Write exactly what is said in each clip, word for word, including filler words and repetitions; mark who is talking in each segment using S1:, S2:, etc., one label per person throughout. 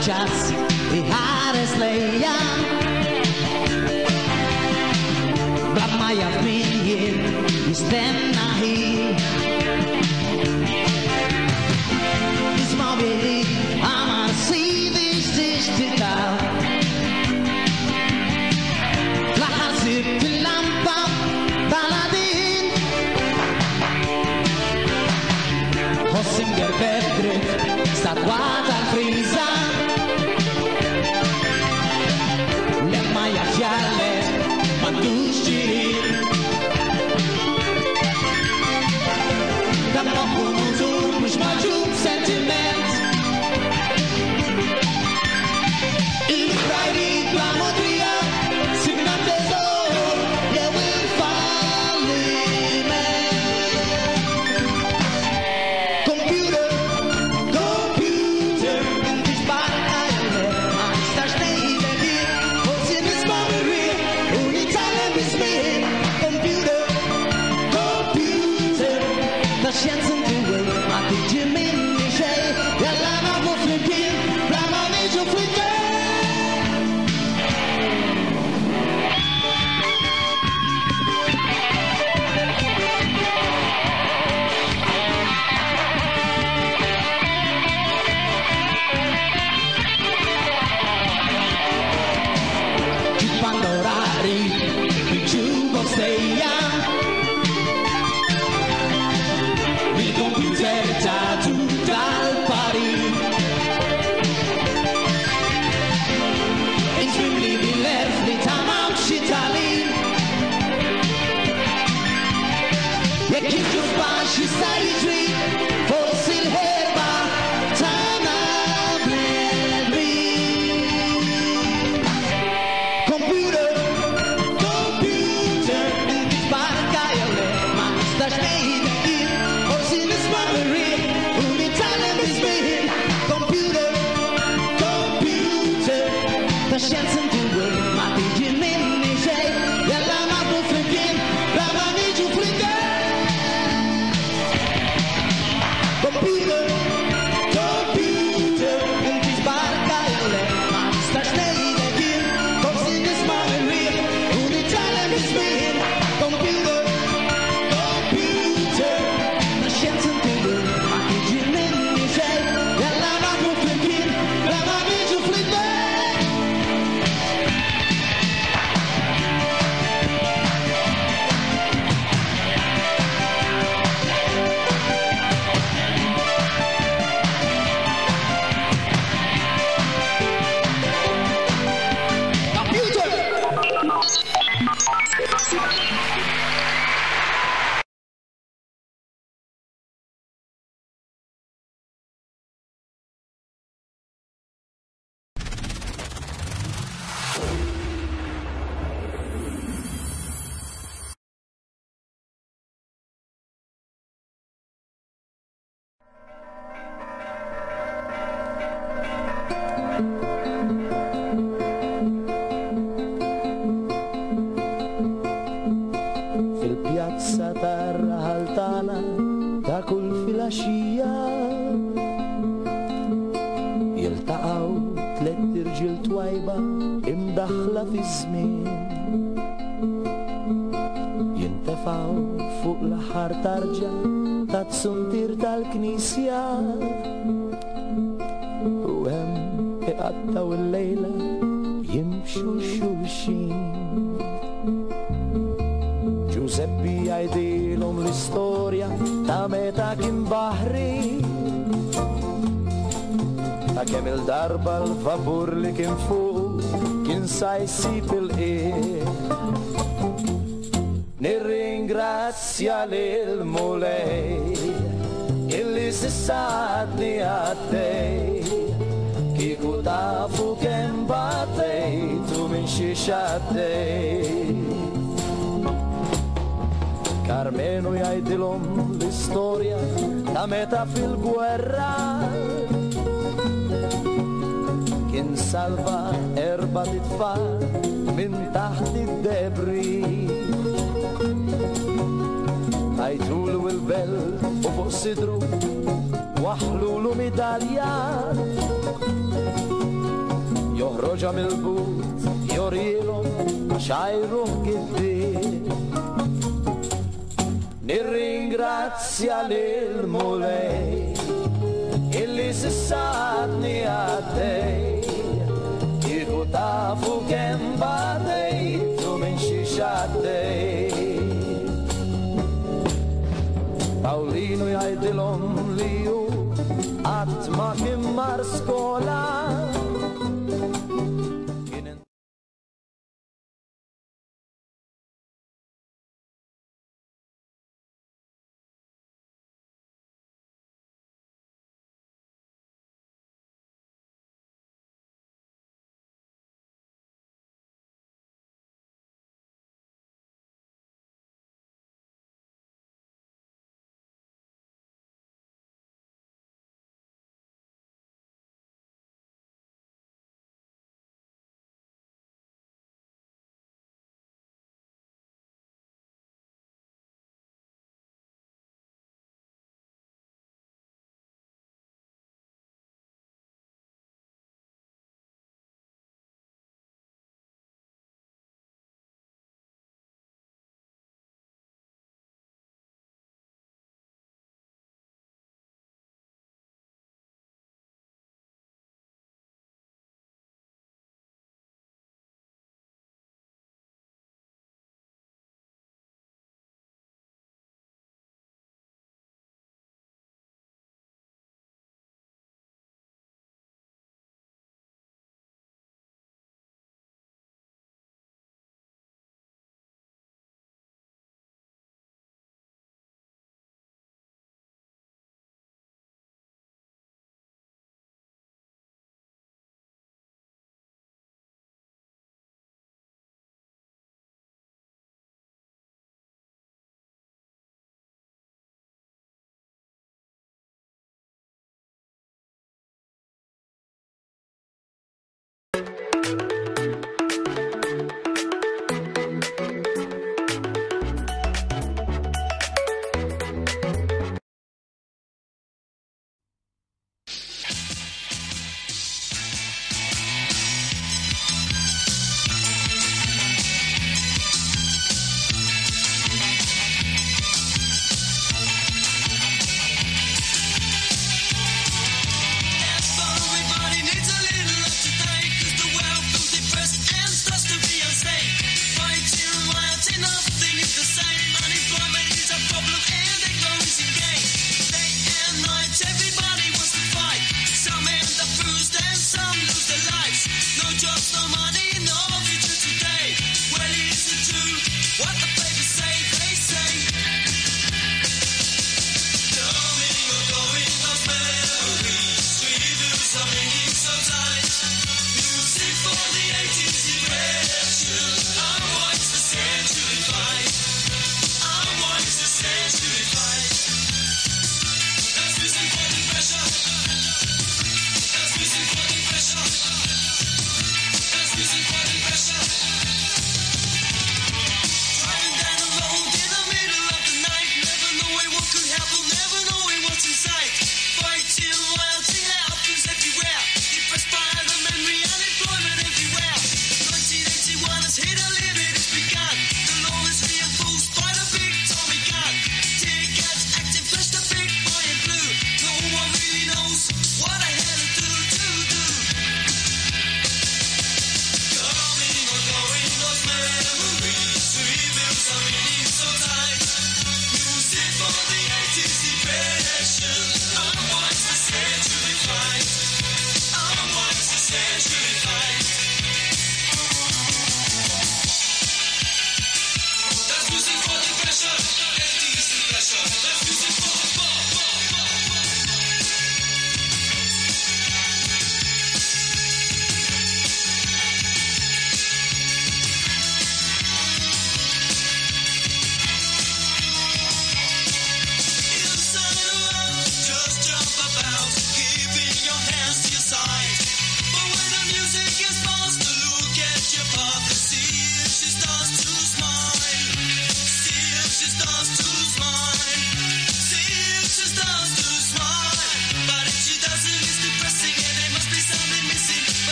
S1: Ċas iħares lejja bla ma jaf min jien jistenna ħin. Isma' billi għamar sidi x'tixtieq fl-aħħar sibt il-lampa tal-għadin. Ħoss imgerbeb dritt statwa tal-friża sentiment. Il-frajri bla modrija sibna teżor jew il-falliment. Computer, computer, inti xbarka jew le, ma nistax ngħidlek jien, forsi nisma' mir-riħ u nitgħallem biż-żmien. Computer, computer, ta' xjenza inti ma tiġi minni xejn, jalla nafu flimkien, bla ma niġu flimkien. Pandorari, il-jukebox dejja, il-computer tatu tal-pari. Inġmimli bil-erf li ta' mawx Italin. Jekk jiġu baxx jista' jiġri, forsi l-ħerba tagħna bnedmin. Computer, computer, inti xbarka jew le, ma nistax ngħidlek jien, forsi nisma' mir-riħ u nitgħallem biż-żmien. Computer, computer, ta' xjenza inti ma tiġi minni xejn, jalla nafu flimkien, bla ma niġu flimkien. Computer, computer, inti xbarka jew le, ma nistax ngħidlek jien, forsi nisma' mir-riħ u nitgħallem biż-żmien. Computer, computer, ta' xjenza inti ma tiġi minni xejn, jalla nafu flimkien, bla ma niġu flimkien. Computer!
S2: Fil-pjazza tar-raħal tagħna ta' kull filgħaxija jiltaqgħu tliet irġiel twajba imdaħħla fiż-żmien. Jintefgħu fuq l-aħħar tarġa tat-suntier tal-knisja u hemm iqattgħu il-lejla jimxu xulxin. Giuseppi jgħidilhom l-istorja ta' meta kien baħri, ta' kemm il-darba l-vapur li kien fuq kien sa jsib il-qiegħ. Nirringrazzja lil Mulej illi s'issa għadni għaddej, kieku tafu kemm batejt u minn xiex għaddej. Karmenu jgħidilhom l-istorja ta' meta fil-gwerra kien salva erba' titfal minn taħt id-debri. Għajtulu il-belt u fuq sidru waħlulu midalja, joħroġha mill-but jorilhom għax għajruh giddieb. Nirringrazzja lil Mulej illi s'issa għadni għaddej, kieku tafu kemm batejt u minn xiex għaddej. Paolino jgħidilhom li hu qatt ma kien mar skola.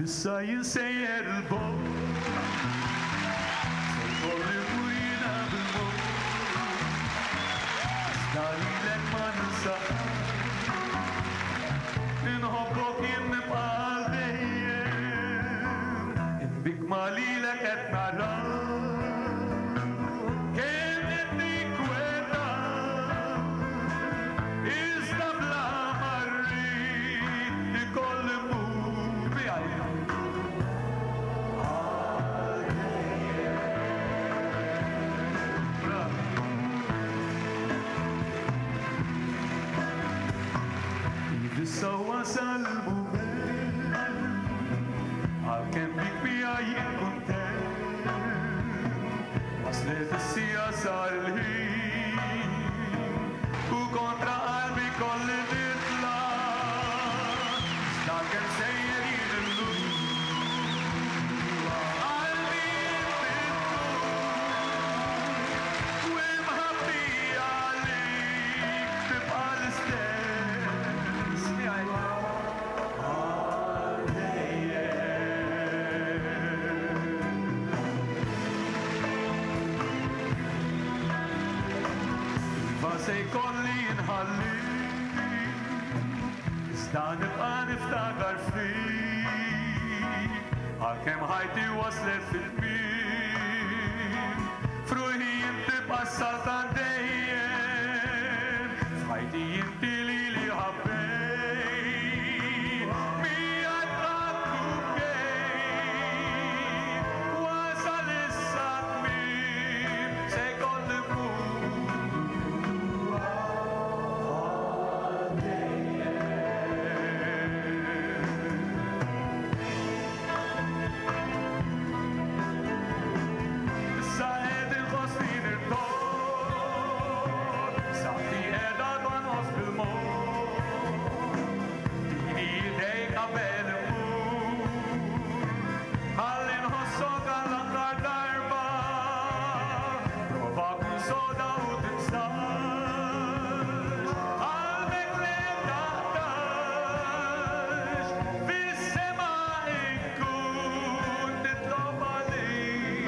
S2: Issa jien sejjer il-bogħod, se jkolli mmur jiena bil-mod. Iżda lilek ma ninsa qatt, inħobbok jien nibqa' għal dejjem. Inbik ma lilek qed nara kemm qed ninkweta, iżda bla ma rrid ikolli mmur miegħi. Issa wasal il-mument, għalkemm bik miegħi jien kuntent. Waslet is-siegħa sar il-ħin, u kontra qalbi kolli nitla'. Iżda kemm sejjer jien illum, qalbi inti tkun, u imħabbi għalik tibqa' l-istess. Iva se jkolli nħalli, iżda nibqa' niftakar fik, għalkemm ħajti waslet fil-tmiem. F'ruħi jien tibqa' s-saltan dejjem, f'ħajti inti lili ħabbejt. Miegħek qatt u bkejt, wasal issa t-tmiem, se jkolli mmur. Issa qed inħossni nirtogħod, saħħti qiegħda tonqos bil-mod. Tini idejk qabel immur, ħalli nħossok għall-aħħar darba. Prova kun soda u tinsax, qalbek li taqtax. Fis-sema inkun nitlob għalik.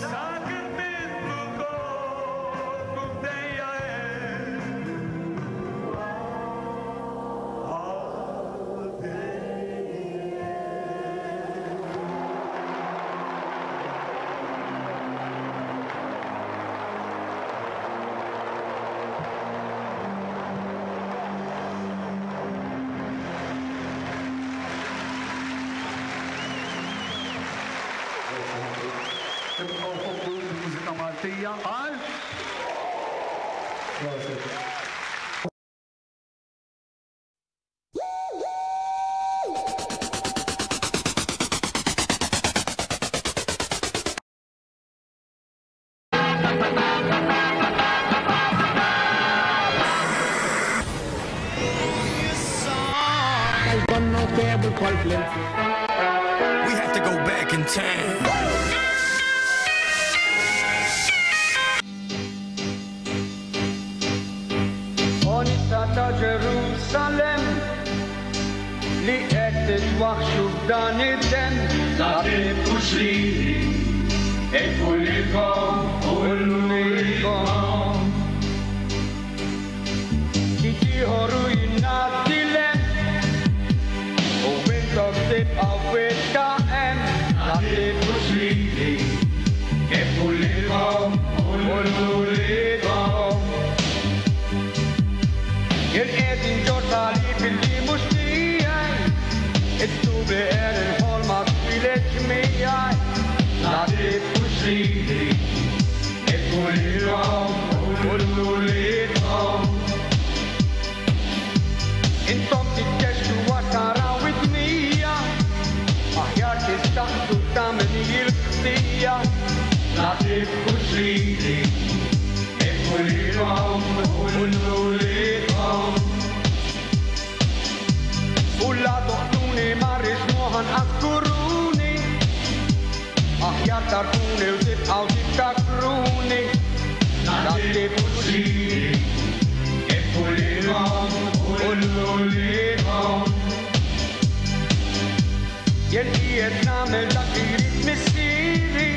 S2: Sakemm int ukoll tkun dejja hemm.
S3: Tibqgħu ħobbu l-mużika Maltija għal
S4: We have to go back in time.
S5: Onista ta' Ġerusalem li qed titwaħxu f'dan id-demm.
S6: La tibkux lili, ibku lilkom u lilkom.
S5: Kif ieħor u jingħaddilem u intom tibqgħu fil-ta' hemm.
S6: La tibkux lili, ibku lilkom u lilkom.
S5: Jien qed inġorr salib illi mhux tiegħi, it-tubi qed inħolma twieled miegħi.
S6: La tibkux lili, ibku lilkom u lilkom.
S5: Intom titkexxu għax taraw id-dmija, aħjar tistaqsu ta' min hi l-ħtija.
S6: La tibkux lili, ibku lilkom u lilkom.
S5: U la toqtuni ma rridx moħan askuruni, aħjar tarfuni u tibqgħu tiftakruni.
S6: La tibkux lili,
S5: Jien qiegħed nagħmel dak li jrid missieri,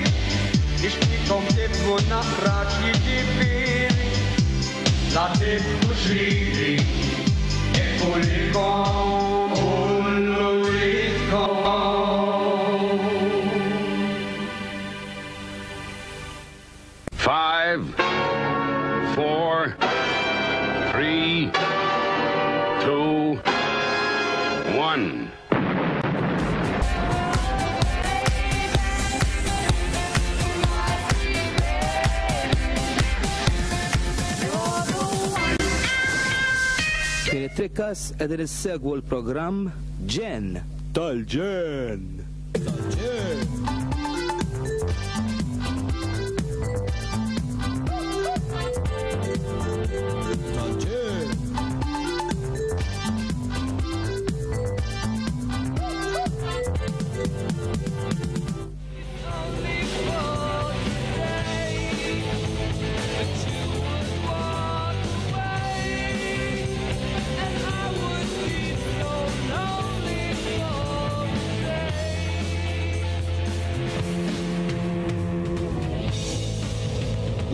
S5: nixtieqkom tifhmu naqra x'jiġifieri. La tibkux lili, ibku lilkom u l-uliedkom.
S7: Five, four, three, two, one.
S8: Kien it-trikkas qegħdin issegwu l-programm Ġenn tal-Ġenn. Tal-Ġenn. Tal-Ġenn.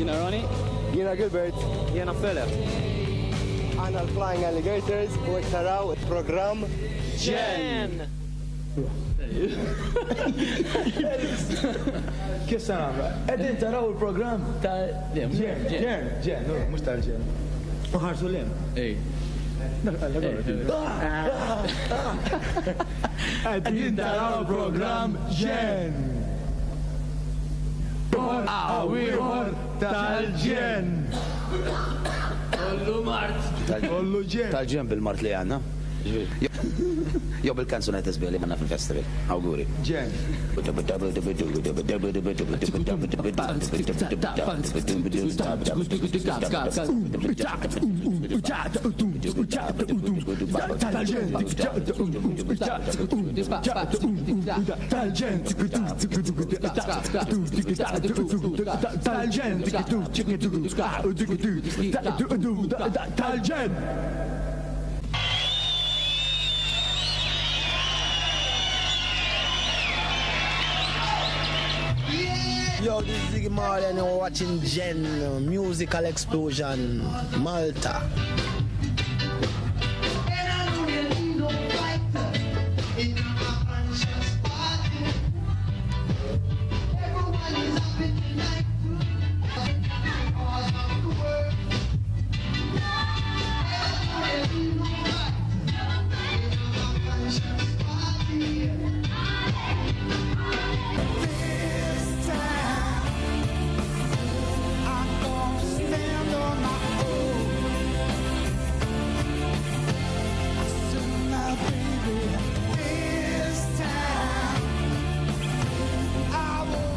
S9: Jiena Ronnie.
S10: Jiena Gilbert.
S9: Jiena Philip.
S10: Aħna l-Flying Alligators u qed taraw il-programm
S9: Ġenn!
S3: Kif se nagħmlu? Qegħdin taraw il-programm
S9: tal-Ġenn.
S3: Ġenn, Ġenn, mhux tal-Ġenn. U ħarsu l-hemm.
S9: Ej.
S3: Qegħdin taraw il-programm Ġenn. Ieħor tal-Ġenn.
S9: Kollu mart.
S3: Kollu ġenn.
S8: Tal-ġenn bil-mart li għandna. Jew bil-kanzunetta sbieħ li għandna fil-festival. Awguri.
S3: Ġenn. Tal-Ġenn. Tal-Ġenn.
S1: Yo, this is Ziggy Marley and you're watching Ġenn Musical Explosion Malta.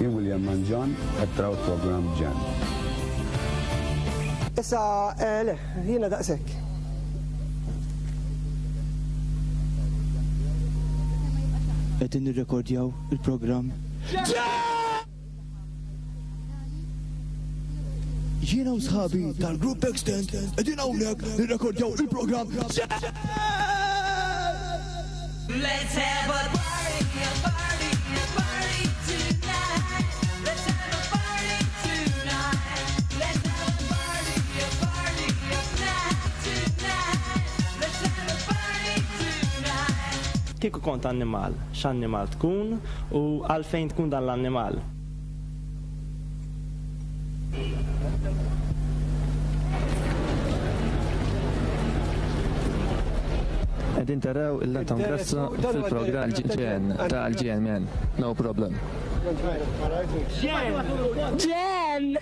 S7: Jien William Manġon, qed taraw il-programm Ġenn.
S10: Issa, eh, le, jiena daqshekk.
S11: Qegħdin nirrekordjaw il-programm. Jiena u sħabi tal-Grupp Extend qegħdin hawnhekk nirrekordjaw il-programm.
S12: Let's have a party, a party, a party tonight. Let's have a party tonight. Let's have a party, a party, a night tonight. Let's have a party tonight.
S9: Kieku kont annimal, x'annimal tkun u għalfejn tkun dan l-annimal?
S13: Qegħdin taraw il-Anton Grasso fil-programm Ġenn tal-Ġenn, man. No problem.
S1: Ġenn! Ġenn!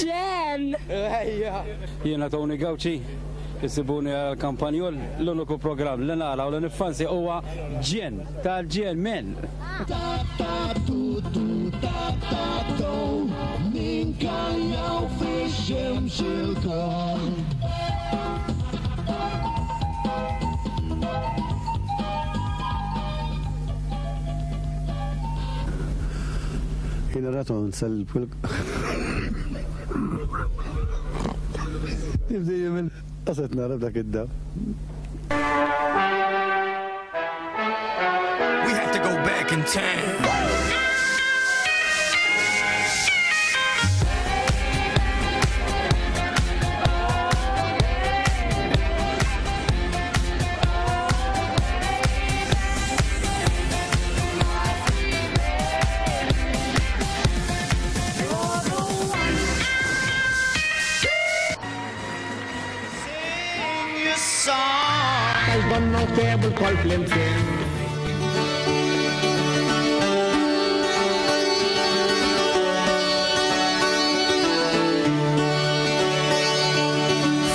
S1: Ġenn!
S14: Jiena Tony Gauci, issibuni għal-Kampanjol, l-uniku programm li nara u li niffansi huwa Ġenn tal-Ġenn, man.
S15: Jiena raton sal-pul. Nibdi jimil. Qaset nara b'dak id-daw.
S4: back in time.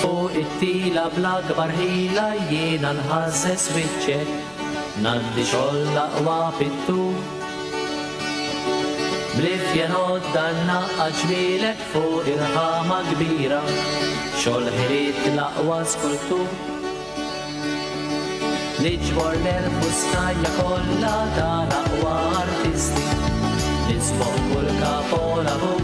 S16: Fuq it-tila bl-akbar ħila jiena nħasses wiċċek, ngħaddi xogħol l-aqwa pittur. Blifjen għodda naqqa ġmielek fuq irħama kbira, xogħol ħiliet l-aqwa skultur. Niġbor l-erf u snajja kollha tal-aqwa artisti, nisboq kull kapolavur.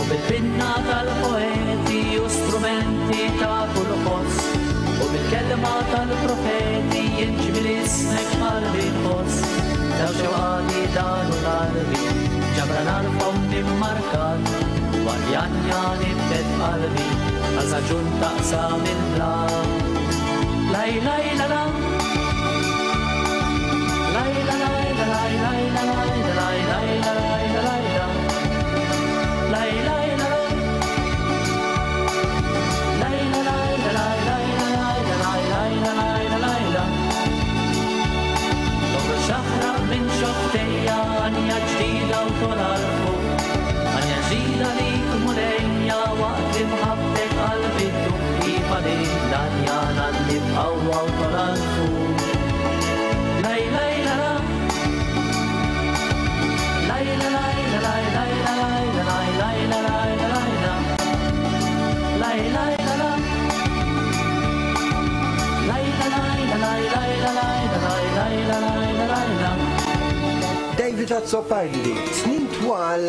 S16: U bil-pinna tal-poeti u strumenti ta' kull ħoss, u bil-kelma tal-profeti jinġmil ismek qalbi nħoss. Daw xewqati dan u qalbi, ġabra narfhom nimmarkat, warjanja nibdet qalbi, għal saġun taqsam il-blat. Laj laj la la, laj la laj la laj laj la laj la laj laj la laj la laj la, laj laj la la, laj la laj la laj laj la laj la laj laj la laj la laj la. Toħroġ aħraq minn xoftejja għanja ġdida u tola l-fuq, għanja ġdida lik mulejja waqt li mħabbtek qalbi tdum. Iva li l-għanja ngħaddi b'qawwa u tola l-fuq. Laj laj la la, laj la laj la laj laj la laj la laj laj la laj la laj la, laj laj la la, laj la laj la laj laj la laj la laj laj la laj la laj la.
S10: David Azzopardi, snin twal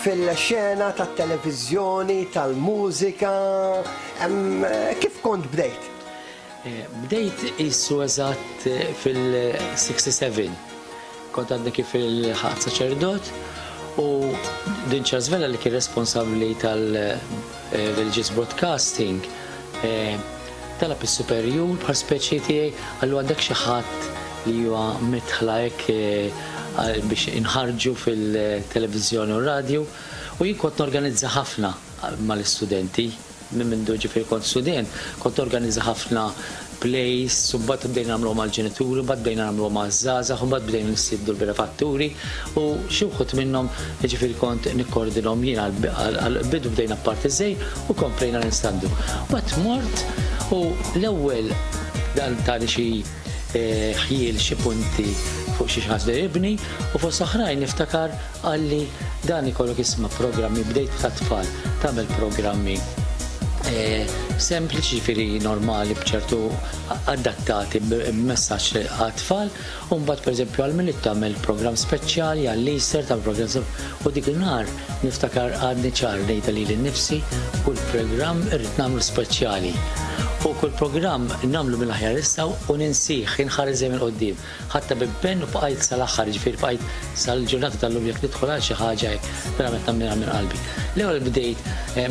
S10: fil-xena tat-televiżjoni, tal-mużika, kif kont bdejt?
S16: Bdejt issu eżatt fil-sixty-seven. Kont għadni kif il-ħaqt saċerdot u din Charles Vella li kien responsabbli tal-Religious Broadcasting talab is-superjur bħal speċi tiegħi għallu għandek xi ħadd li huwa mitħla hekk biex inħarġu fil-televiżjoni u r-radju, u jien kont norganizza ħafna mal-istudenti. Minn mindu ġifieri kont student, kont organizza ħafna plays, u mbagħad bdejna nagħmluhom mal-ġenituri, mbagħad bdejna nagħmluhom maż-żgħażagħ, u mbagħad bdejna nistieqdu l-benefatturi, u xi wħud minnhom ġifieri kont nikkordinhom jien għall-bidu bdejna parti żejr u komplejna nistandu. Mbagħad mort u l-ewwel dan tali xi ħjiel xi punti fuq xi ħaġa li jibni, u fost oħrajn niftakar qalli dan ikollok isma' programmi, bdejt ta' tfal, tagħmel programmi sempliċi ġifieri normali b'ċertu adattati b'messaġġ għat-tfal, u mbagħad pereżempju għal Milied tagħmel programm speċjali, għall-Easter tagħmel programm, u dik in-nhar niftakar għadni ċar ngħidha lili nnifsi kull programm irrid nagħmlu speċjali. U kull programm nagħmlu mill-aħjar issa u ninsih, inħares dejjem il quddiem. Ħatta b'impenn u bqajt sal-aħħar, ġifieri bqajt sal-ġurnata tal-lum jekk nidħol għal xi ħaġa hekk, verament nagħmilha minn qalbi. L-ewwel bdejt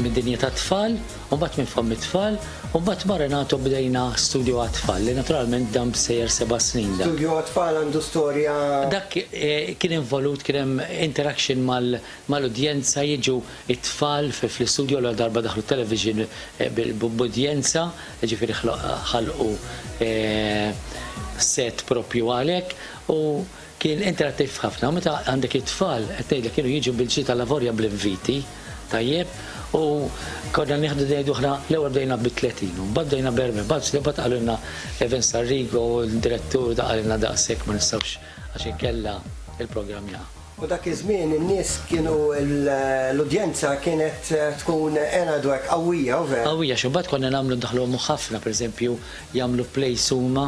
S16: mid-dinja tat-tfal, u mbagħad minn fomm it-tfal, u mbagħad ma' Renato bdejna studio għat-tfal, li naturalment dam sejjer seba' snin dan.
S10: Studio għat-tfal għandu storja.
S16: Dak kien involut, kien hemm interaction mal-udjenza, jiġu it-tfal fl-istudio l darba daħlu television b'udjenza, ġifieri ħalqu set propju għalhekk, u kien interattiv ħafna. U meta għandek it-tfal, qed ngħidlek kienu jiġu bil-ġid tal-lavorja bl-inviti, tajjeb, u konna nieħdu ngħidu aħna l-ewwel bdejna bi tletin, u mbagħad bdejna b'erbgħin, mbagħad mbagħad qalilna Evan Sarrigo, il-direttur, da qalilna daqshekk ma nistgħux għax inkella il-programm jaqa'.
S10: U dak iż-żmien in-nies kienu l-udjenza kienet tkun enadwek qawwija, u vera?
S16: Qawwija, xi mbagħad konna nagħmlu ndaħluhom ħafna, pereżempju jagħmlu plays huma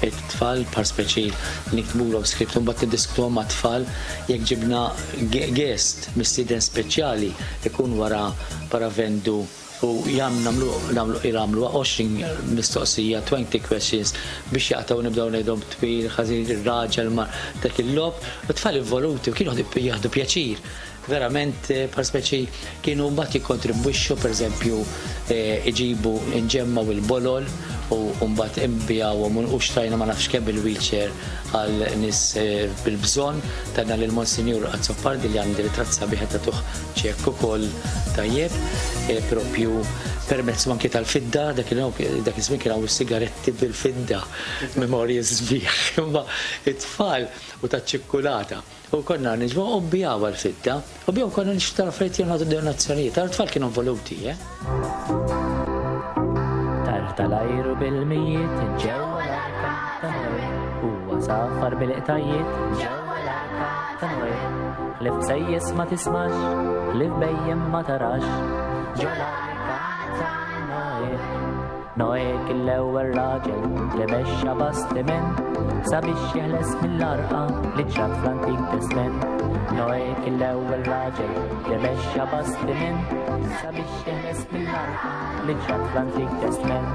S16: it-tfal, par speċi niktbulhom script u mbagħad niddiskutuhom mat-tfal, jekk ġibna guest mistieden speċjali ikun wara paravendu U jam nagħmlu nagħmlu jagħmlu għoxrin mistoqsija, twenty questions biex jaqtaw, nibdew ngħidhom twil, ħażin, ir-raġel ma dak il-logħob, u tfal involuti u kienu jieħdu pjaċir. Verament, par speċi kienu mbagħad jikkontribwixxu, pereżempju, iġibu nġemmaw il-bolol u mbagħad imbijawhom u xtrajna ma nafx kemm il-wheelchair għal nies bil-bżonn. Tajna lil Monsinjur Azzopardi li għandi ritratt sabiħ tagħtuh ċekk ukoll tajjeb, propju permezz anki tal-fidda, dak iż-żmien kien hawn is-sigaretti bil-fidda, memorji sbieħ, imma it-tfal u taċ-ċikkulata. U konna niġbu u nbijaw għal-fidda, u bijaw konna nixtru affarijiet jew nagħtu donazzjonijiet, tal-tfal kienu involuti, eh?
S17: Tar tal-ajru bil-mijiet ġewwa l-arka ta' Noè, huwa safar bil-qtajiet ġewwa l-arka ta' Noè. Ħlief sejjes ma tismax, ħlief bejjem ma tarax, ġo l-arka ta' Noè. Noè kien l-ewwel raġel li mexxa bastiment sabiex jeħles mill-arqa li ġrat fl-Antik Testament. Noè kien l-ewwel raġel li mexxa bastiment sabiex jeħles mill-arqa li ġrat fl-Antik Testament.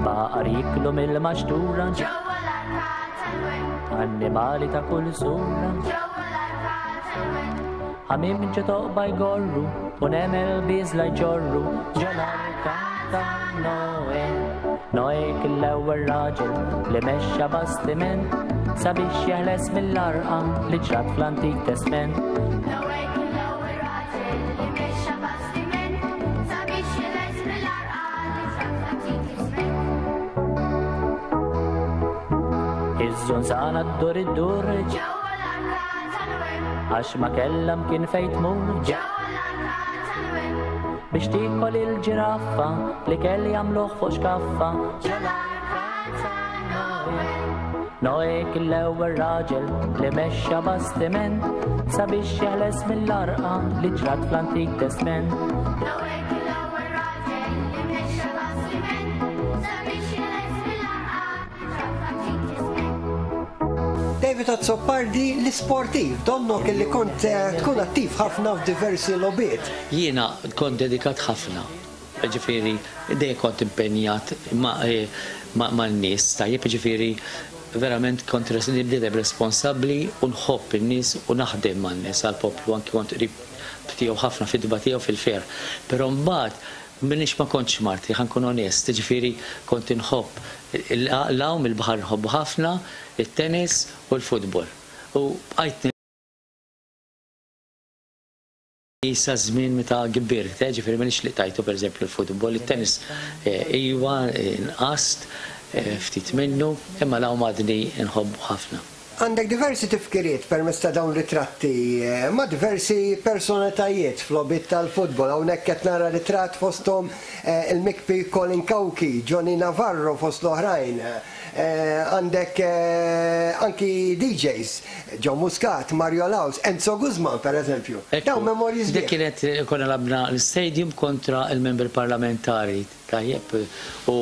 S17: Baqar jiklu mill-maxtura
S18: ġewwa l-arka ta' Noè,
S17: annimali ta' kull sura
S18: ġewwa l-arka ta' Noè.
S17: Ħamiem ġo toqba jgorru u nemel biżla jġorru ġo l-arka ta' Noè. Noè kien l-ewwel raġel li mexxa bastiment sabiex jeħles mill-arqa li ġrat fl-Antik Testament.
S18: Noè kien l-ewwel raġel li mexxa bastiment sabiex jeħles mill-arqa li ġrat fl-Antik Testament.
S17: Iż-żunżana ddur iddur
S18: ġewwa l-arka ta' Noè,
S17: għax ma kellha mkien fejn tmur
S18: ġewwa l-arka ta' Noè,
S17: biex tiekol il-ġiraffa li kelli jagħmluh fuq xkaffa
S18: ġo l-arka ta' Noè.
S17: Noè kien l-ewwel raġel li mexxa bastiment sabiex jeħles mill-arqa li ġrat fl-Antik Testament.
S18: Noè kien l-ewwel raġel li mexxa bastiment sabiex jeħles mill-arqa li ġrat fl-Antik Testament.
S10: David Azzopardi, l-isportiv, donnok illi kont tkun attiv ħafna f'diversi logħbiet.
S16: Jiena kont dedikat ħafna, ġifieri dejjem kont impenjat man-nies, tajjeb, ġifieri verament kont nibdejjem responsabbli u nħobb in-nies u naħdem man-nies għall-poplu, anki kont qrib tiegħu ħafna fid-dba tiegħu fil-fer. Però mbagħad minix ma kontx marti, ħa nkun onest, ġifieri kont inħobb l-għawm, il-baħar nħobbu ħafna, it-tennis u l-futbol. U bqajt sa żmien meta kbirt, ġifieri minix li tajtu pereżempju l-futbol, it-tennis iwa nqast ftit minnu, imma l-għawm għadni nħobbu ħafna.
S10: Għandek diversi tifkiriet permezz ta' dawn ritratti ma' diversi personalitajiet fl-logħbiet tal-futbol. Hawnhekk qed nara ritratt fosthom il-mikpi Colin Cauchi, Johnny Navarro fost l-oħrajn. Għandek anki D Js, John Muscat, Mario Laus, Enzo Guzman per eżempju. Dawn memorji sbieħ.
S16: Dik kienet konna labna l-stadium kontra il-membri parlamentari, tajjeb, u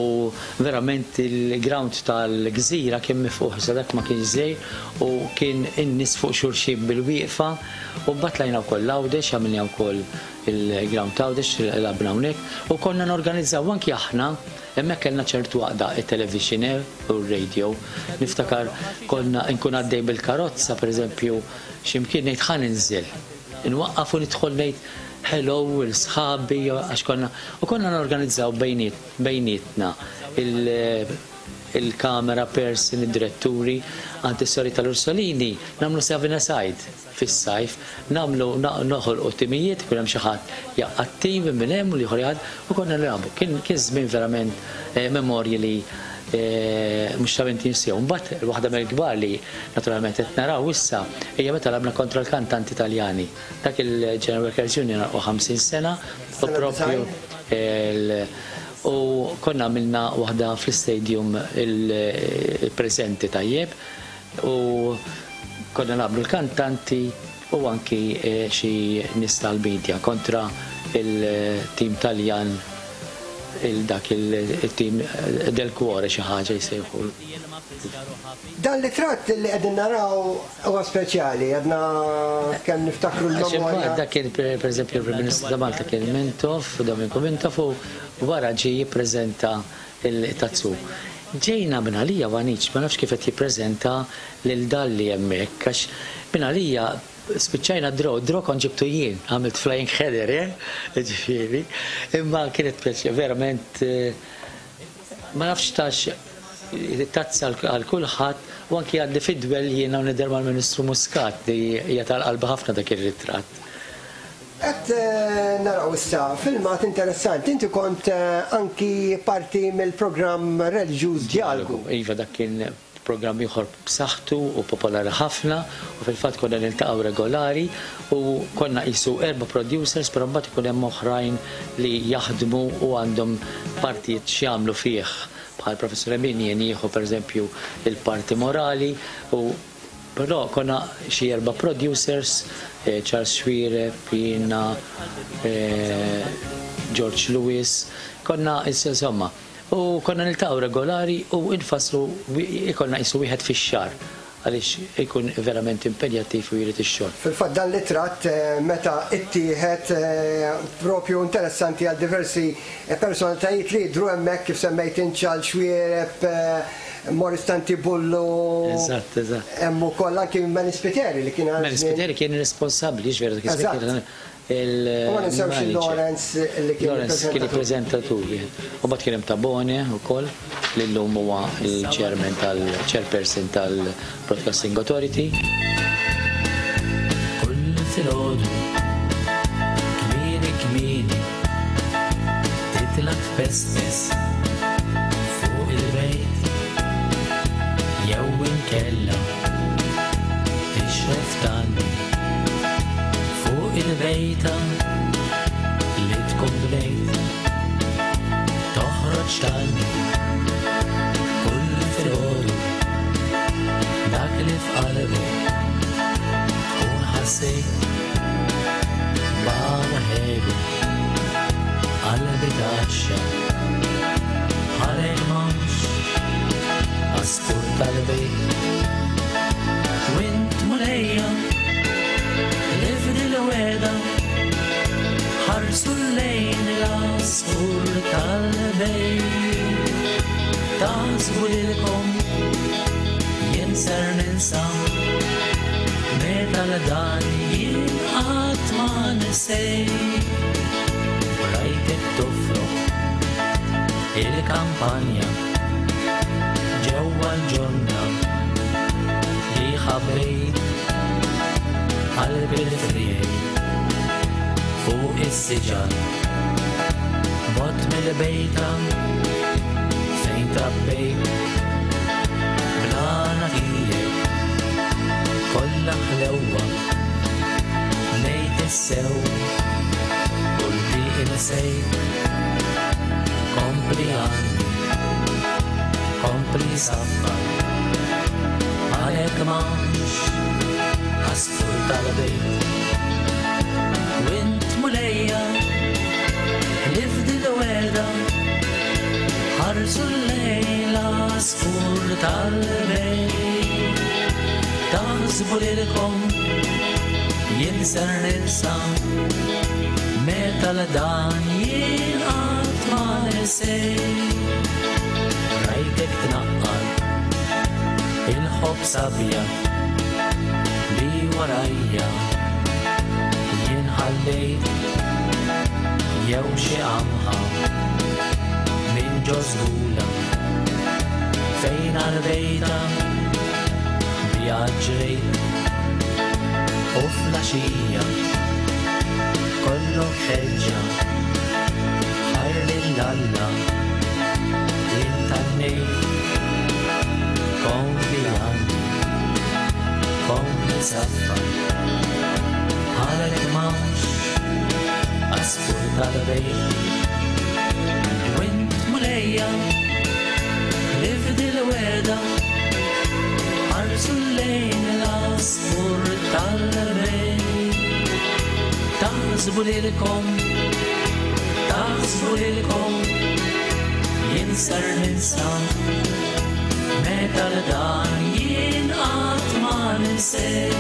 S16: verament il-ground tal-gżira kien mifquħ, sa dak ma kienx żejr, u kien in-nies fuq xulxin bil-wieqfa, u mbagħad lajna wkoll l-Għawdex, għamilna wkoll il-ground Għawdex, labna hawnhekk, u konna norganizzaw anki aħna. Hemmhekk kellna ċertu għaqda it-television u r-radio. Niftakar konna nkun għaddej bil-karozza, pereżempju, x'imkien ngħid ħa ninżel. Nwaqqaf u nidħol ngħid hello il sħabi, għax konna u konna norganizzaw bejnietna il-kamera person, id-diretturi, għand is-sori tal-Ursolini, nagħmlu seven aside fis-sajf, nagħmlu noħolqu timijiet, ikun hemm xi ħadd jaqgħad tim minn hemm u l-ieħor jaqgħad, u konna nilagħbu. Kien kien żmien verament memorji li mhux ta' min tinsew. Mbagħad waħda mill-kbar li naturalment qed naraw issa hija meta lagħabna kontra l-kantanti Taljani. Dak il-General Workers Union għal ħamsin sena u propju u konna għamilna waħda fl-istadium il-preżenti tajjeb u konna nagħmlu l-kantanti u anki xi nies tal-media kontra il-tim Taljan, il-dak il-tim del cuore xi ħaġa jsejħu.
S10: Dan l-ritratt li qegħdin naraw huwa speċjali, għadna kemm niftakru l-memorja.
S16: Dak kien per eżempju il-Prim Ministru ta' Malta kien Mintoff, Dominiku Mintoff, u wara ġie jippreżenta il-tazzu. Ġejna minn għalija Vaniċ, ma nafx kif qed jippreżenta lil Dalli hemmhekk, għax minn għalija spiċċajna draw, draw kont ġibtu jien, għamilt flying header, eh? Ġifieri. Imma kienet pjaċir, verament, ma nafx tax tazza għal kulħadd u anki għaddi fidwel jiena u nidher mal-Ministru Muscat li hija tal-qalba ħafna dak ir-ritratt.
S10: Qed naraw issa filmat interessanti, inti kont anki parti mill-programm reliġjuż Djalogu.
S16: Iva, dak kien programm ieħor b'saħħtu u popolari ħafna u fil-fatt konna niltaqgħu regolari u konna qisu erba' producers, però mbagħad ikun hemm oħrajn li jaħdmu u għandhom partijiet x'jagħmlu fih. Bħal Professor Emin jien jieħu pereżempju il-parti morali, u però konna xi erba' producers, Charles Xuereb, jiena, George Lewis, konna insomma, u konna niltaqgħu regolari u infasslu ikonna qisu wieħed fix-xahar għaliex ikun verament impenjattiv u jrid ix-xogħol.
S10: Fil-fatt dan l-ritratt meta ittieħed propju interessanti għal diversi personalitajiet li jidhru hemmhekk kif semmejt Charles Xuereb, Morris Tantibullu.
S16: Eżatt, eżatt.
S10: Hemm ukoll anki Manny Spiteri li kien għal.
S16: Manny Spiteri kien responsabbli, ġveru dak iż-żmien.
S10: U ma ninsewx il-Lawrence li kien
S16: Lawrence kien il-preżentatur. U mbagħad kien hemm Tabone wkoll li llum huwa il-chairman tal-chairperson tal-Broadcasting Authority.
S17: Kull filgħodu kmieni kmieni titla' tpespes fuq il-bejt jew inkella tixref tgħanni fuq il-bejta li tkun bnejt toħroġ tgħanni kull filgħodu dak li f'qalbek tkun ħassejt barra ħelu qalbi taxxa ħalek m'hawnx għasfur tal-bejt wint mulejja l-ifdi l-weda ħarsu lejn l-għasfur tal-bejt taħsbu lilkom jien ser ninsa meta l-dan jien qatt ma nisej rajtek tofroq il-kampanja ġewwa l-ġonna li ħabbejt qalbi l-frijej fuq is-siġar bot mill-bejta fejn trabbejt blana tiegħek kollha ħlewwa ngħid is-sew kull di insejt kompli għandi kompli saffar għalhekk m'hawnx għasfur tal-bejt wint mulejja l-ifdi l-weda ħarsu l-lejl għasfur tal-bejt taħsbu lilkom jien ser ninsa meta l-dan jien qatt ma nisej rajtek tnaqqar il-ħobż abjad li warajja jien ħallejt jew xi qamħa minn ġo żgula fejn għal-bejta biha ġrejt u flaxija kollok ħeġġa ħajr lil Alla intannejt kompli għandi kompli saffar għalhekk m'hawnx għasfur tal-bejt wint mulejja l-ifdi l-weda ħarsu lejn l-għasfur tal-bejt taħsbu lilkom taħsbu lilkom jien ser ninsa Meta l-dan jien qatt ma ninsej.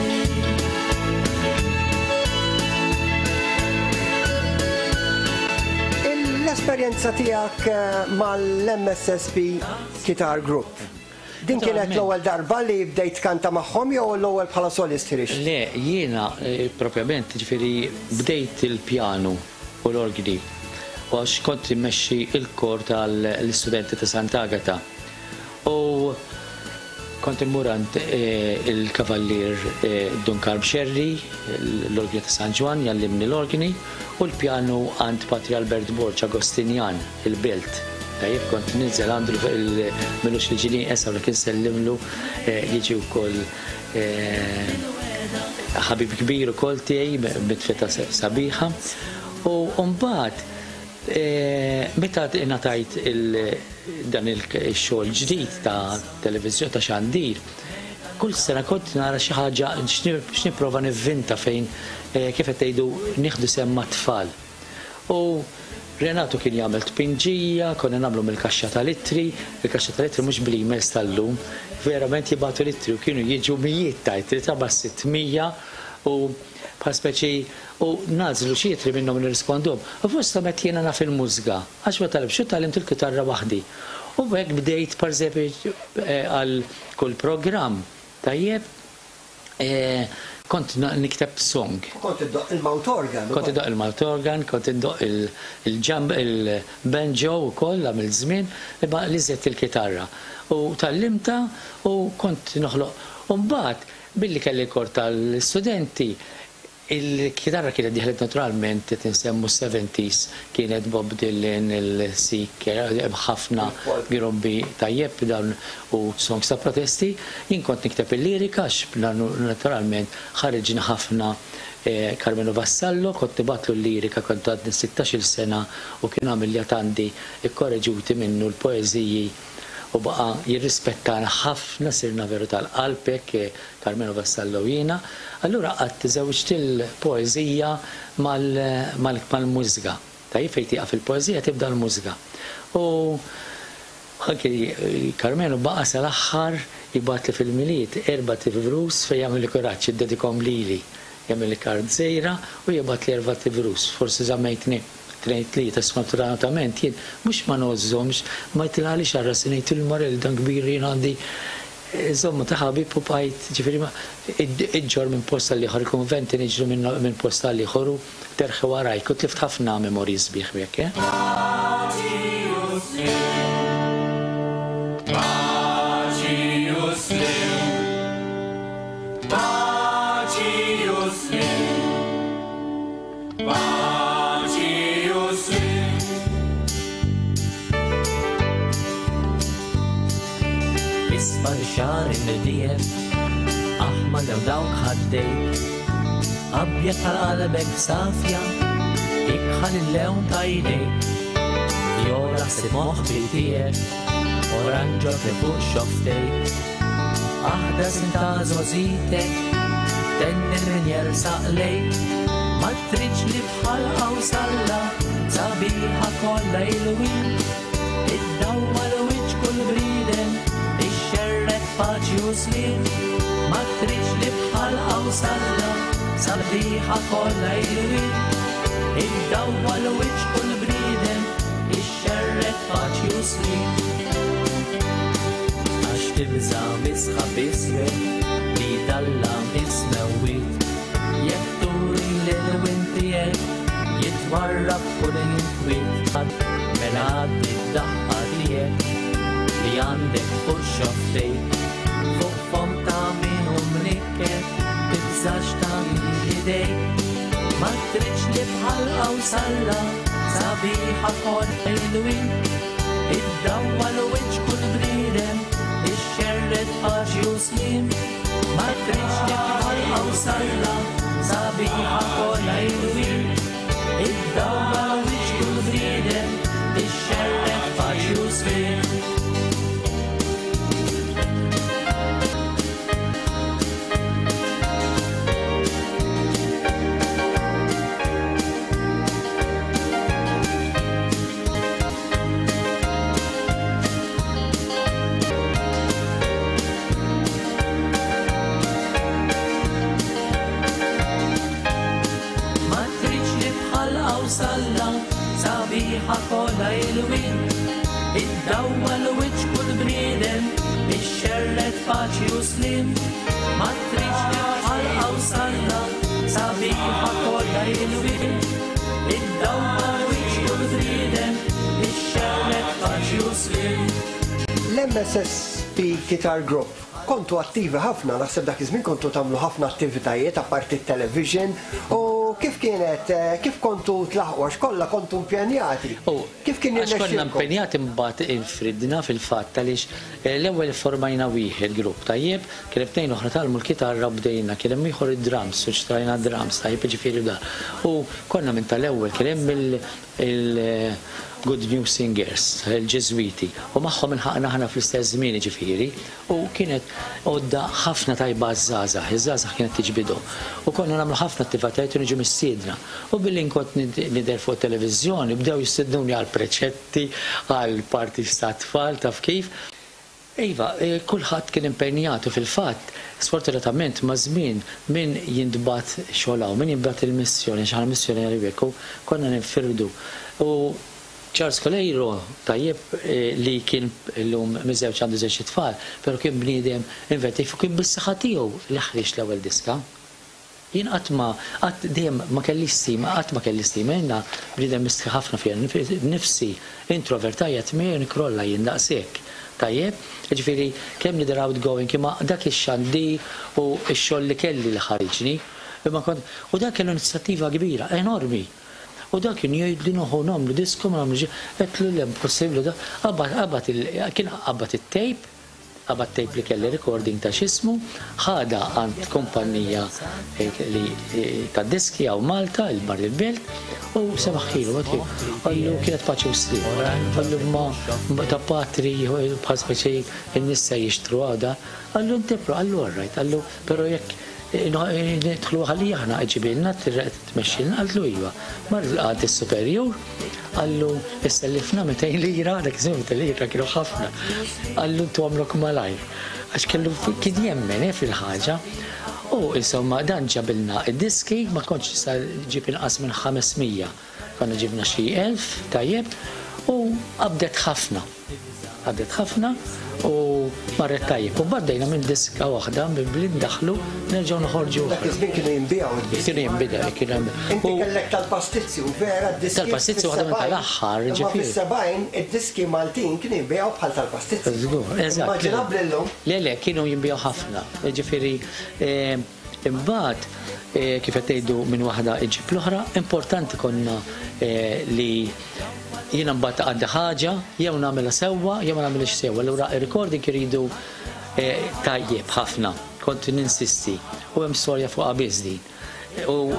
S10: L-esperjenza tiegħek mal-M S S P Guitar Group. Din kienet l-ewwel darba li bdejt kanta magħhom jew l-ewwel bħala solist ħriġt?
S16: Le, jiena propjament ġifieri bdejt il-pjanu u l-orgni għax kont immexxi il-kor tal-istudenti ta' Sant'Agata. U kont immur għand il-kavallier Dun Karm Xerri, l-orgni ta' San Ġwann, jallimni l-orgni, u l-pjanu għand Patri Albert Borg Agostinjan, il-Belt. Tajjeb, kont ninżel għandu l-milux li ġini esa u kien sellimlu jiġi wkoll ħabib kbir ukoll tiegħi bitfeta sabiħa. U mbagħad meta ngħatajt dan il-xogħol ġdid ta' televiżjoni ta' xandir, kull sena kont nara xi ħaġa x'nipprova nivvinta fejn kif qed tgħidu nieħdu sehem mat-tfal. U Renato kien jagħmel tpinġija, konna nagħmlu mill-kaxxa tal-ittri, il-kaxxa tal-ittri mhux bl-emails tal-lum, verament jibgħatu l-ittri u kienu jiġu mijiet ta' ittri ta' sitt mija u bħal speċi u nażlu xi ittri minnhom nirrispondhom. U fosthom qed jiena naf il-mużga, għax ma talibx u tgħallimt il-kitarra waħdi. U hekk bdejt pereżempju għal kull programm tajjeb kont nikteb song.
S10: Kont iddoq il-mouth organ.
S16: Kont iddoq il-mouth organ, kont iddoq il-ġamb, il-banjo wkoll għamil żmien, imma li żedt il-kitarra. U tallimta u kont noħloq. U mbagħad billi kelli kor tal-studenti, il-kitarra kienet dieħlet naturalment, qed insemmu seventies, kienet Bob Dylan, il-Seeker, ħafna grobbi tajjeb dawn u songs ta' protesti. Jien kont nikteb il-lirika għax naturalment ħarġin ħafna Carmelo Vassallo, kont nibatlu l-lirika kont għadni sittax-il sena u kien għamil li għandi ikkoreġuti minnu l-poeżiji u baqa jirrispettana ħafna, sirna veru tal-qalb hekk Carmelo Vassallo jiena. Allura qatt żewġt il-poeżija mal-mużika. Tajjeb fejn tieqaf il-poeżija tibda l-mużika. U anke Carmelo baqa sal-aħħar jibgħatli fil-Milied erba' tivrus fejn jagħmel kuraġġ jiddedikhom lili. Jagħmel kard żgħira u jibgħatli erba' tivrus. Forsi żammejtni tnejn tlieta sfortunatament jien mhux ma nożżomx, ma jtilgħalix għal rasi ngħid il-Morel dan kbir jien għandi insomma ta' ħabib u bqajt ġifieri ma iġġor minn post għal ieħor, konventi niġru minn post għal ieħor u terħi warajk u tlift ħafna memorji sbieħ b'hekk, eh? Isfar xar in-nidijek, aħmar jew dawk ħaddejk, abjad tal-qalbek safja, ikħal il-lewn ta' jdejk, vjola ħsib moħbi tiegħek, oranġo li fuq xofftejk, aħdar sinta żożitek, tenni min jersaq lejk, ma tridx li bħal qawsalla, sabiħa kollha ilwien, id-dawwa l-wiċċ kull bniedem, ixxerred paċi u sliem, ma tridx li bħal qawsalla, sabiħa kollha ilwien, id-dawwa l-wiċċ kull bniedem, ixxerred paċi u sliem. Għax tibża' misħab iswed li dallam is-smewwiet, jekk turi l-ilwien tiegħek jitwarrab kull inkwiet, mela għaddi d-daħqa tiegħek li għandek fuq xofftejk, fuq fom ta' min hu mnikket, tibżax ta' idejk, ma tridx li bħal qawsalla, sabiħa kollha ilwien, id-dawwa l-wiċċ kull bniedem, ixxerred paċi u sliem, ma tridx li bħal qawsalla, sabiħa kollha ilwien, id-dawwa l-wiċċ kull bniedem, ixxerred paċi u sliem.
S17: qawsalla, sabiħa kollha ilwien. Iddawwal wiċċ kull bniedem, ixxerred paċi u slim. Ma tridx bħal qawsalla, sabiħa kollha ilwien. Iddawwal wiċċ kull bniedem, ixxerred paċi u slim.
S10: L-M S S P Guitar Group kontu attivi ħafna, naħseb dak iż-żmien kontu tagħmlu ħafna attivitajiet apparti t-television u kif kienet, eh, kif kontu tlaħqu għax kollha kontu impjenjati? Kif kien
S16: Għax konna
S10: jirnexxielkom?
S16: Impenjati, mbagħad infridna fil-fatt għaliex eh, l-ewwel formajna wieħed grupp tajjeb, kien hemm tnejn oħra tgħallmu l-kitarra u bdejna, kien hemm ieħor id-drums, u xtrajna drums tajjeb, ġifieri da. U konna minn tal-ewwel kien hemm il- il- Good News Singers, il-Ġeżwiti, u magħhom ilħaqna aħna fl-istess żmien ġifieri, u kienet għodda ħafna tajba għaż-żgħażagħ, iż-żgħażagħ kienet tiġbidhom. U konna nagħmlu ħafna attivitajiet u niġu mistiedna. U billi nkont nidher fuq televiżjoni, bdew jistednuni għal preċetti, għal parties ta' tfal, taf kif. Iva, eh, kulħadd kien impenjatu fil-fatt, sfortunatament ma' żmien min jintbagħat xogħol, min jintbagħat il-missjoni, xaħna missjoni għal konna ninfirdu. U Charles Coleiro, tajjeb, eh, li kien illum miżewġ, għandu żewġ tfal, pero kien bniedem inventiv u kien bis-saħħa tiegħu li ħriġ l-ewwel diska. Jien qatt ma qatt dejjem ma kelli stima, qatt ma kelli stima, jiena bniedem mistħi ħafna fija nifsi, introvert, għajat miegħi nikrolla jien daqshekk. Tajjeb, ġifieri kemm nidher outgoing, imma dak ix-xandi u x-xogħol li kelli li ħariġni. Imma kont, u dak kellu inizjattiva kbira, enormi. U dak kien jgħid li noħu nagħmlu disko, ma nagħmlu, għedtlu le, impossibbli da. Qabad, qabad il, kien qabad it-tape, qabad tape li kelli recording ta' x'ismu, ħada għand kumpanija eh, li eh, ta' diski għaw Malta, il-Bar il-Belt, u semaħħilu, għallu kienet paċi u slim. Għallu ma ma ta' patri, bħal speċi n-nissa jixtru għada, għallu intipru, għallu all right, għallu, pero jekk nidħlu għalli aħna ġibilna, tmexxilna, għallu iva. Mar għad il-superjur, għallu issellifna mitejn lira, dak iż-żmien mitejn lira kienu ħafna. Għallu ntu għamlok malajr. Għax kellu kien jemmen eh, fil-ħaġa. U insomma dan ġabilna id-diski, ma kontx sa ġib inqas minn ħames mija. Konna ġibna xi elf, tajjeb, u qabdet ħafna. Qabdet ħafna u marret tajjeb. U baddejna minn diska waħda billi ndaħlu nerġgħu noħorġu.
S10: Dak iż-żmien kienu jinbiegħu id-diski.
S16: Kienu jinbiegħu, kienu jinbiegħu.
S10: Inti kellek tal-pastizzi u vera d-diski.
S16: Tal-pastizzi waħda minn tal-aħħar,
S10: Imma
S16: ġifieri.
S10: fis-sebgħin id-diski Maltin kienu jinbiegħu bħal tal-pastizzi.
S16: Żgur, eżatt.
S10: Immaġinabbli llum.
S16: Le, le, kienu jinbiegħu ħafna. Ġifieri, eh, imbagħad eh, kif qed tgħidu minn waħda iġib l-oħra, importanti konna eh, li jiena mbagħad għaddi ħaġa, jew nagħmilha sewwa, jew ma nagħmilx sewwa. Allura ir-recording iridu eh, tajjeb ħafna. Kont ninsisti. U hemm storja fuq biss din. U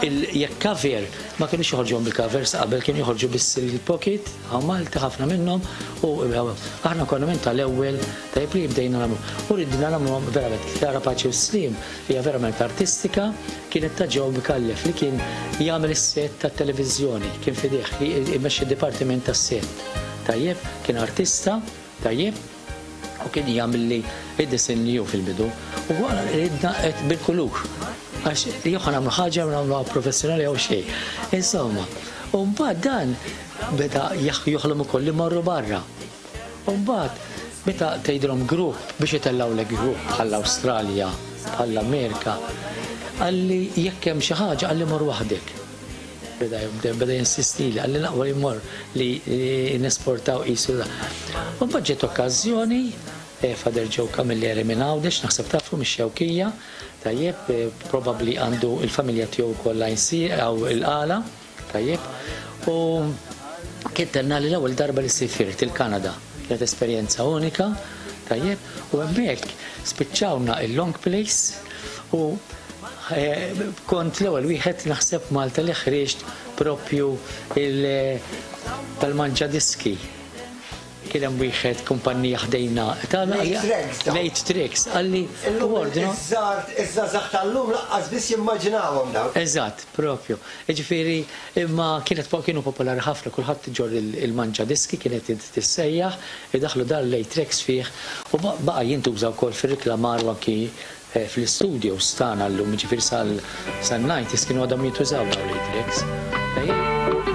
S16: il- jekk cover, ma kienux joħorġu bil-covers qabel, kienu joħorġu biss il-pocket, hawn Malta ħafna minnhom, u aħna konna minn tal-ewwel tajjeb li bdejna nagħmlu. U ridna nagħmluhom verament Klara Paċi u Slim hija verament artistika, kienet ta' Joe Micallef li kien jagħmel is-set tat-televiżjoni, kien fideh imexxi d-dipartiment tas-set. Tajjeb, kien artista, tajjeb, u kien jagħmel li id-disin li ju fil-bidu. U għara ridna qed bil-kulur. Għax jew ħa nagħmlu ħaġa jew nagħmluha professjonali jew xejn. Insomma, u mbagħad dan beda joħlom ukoll li morru barra. U mbagħad meta tgħidilhom grupp biex itellgħulek grupp bħall-Awstralja, bħall-Amerika, għalli jekk hemm xi ħaġa għalli mor waħdek. Beda beda jinsisti li għalli naqwa li mor li nesportaw qisu da. U mbagħad ġiet okkażjoni, eh, Father Joe Camilleri minn Għawdex, naħseb tafu mix-Xewkija, tajjeb, eh, probabbli għandu il-familja tiegħu kollha jsir għaw il-Qala, tajjeb, u kien tenna li l-ewwel darba li sifirt il-Kanada. Kienet esperjenza unika, tajjeb, u hemmhekk spiċċawna il-long plays u eh, kont l-ewwel wieħed naħseb Malta li ħriġt propju il- tal-manġa diski. Kien hemm wieħed kumpanija ħdejna.
S10: Late Tracks dawn.
S16: Late Tracks, għalli
S10: Illum
S16: ordnu.
S10: iż-żgħar iż-żgħażagħ tal-lum lanqas biss jimmaġinawhom dawn.
S16: Eżatt, propju. Ġifieri, imma kienet kienu popolari ħafna, kulħadd ġor il-manġa diski kienet tissejjaħ, idaħlu dar late tracks fih u baqa' jintuża wkoll fir-reklamar u anki eh, fl-studios tagħna llum, ġifieri sal-nineties kienu għadhom jintużaw dawn late tracks. Tajjeb?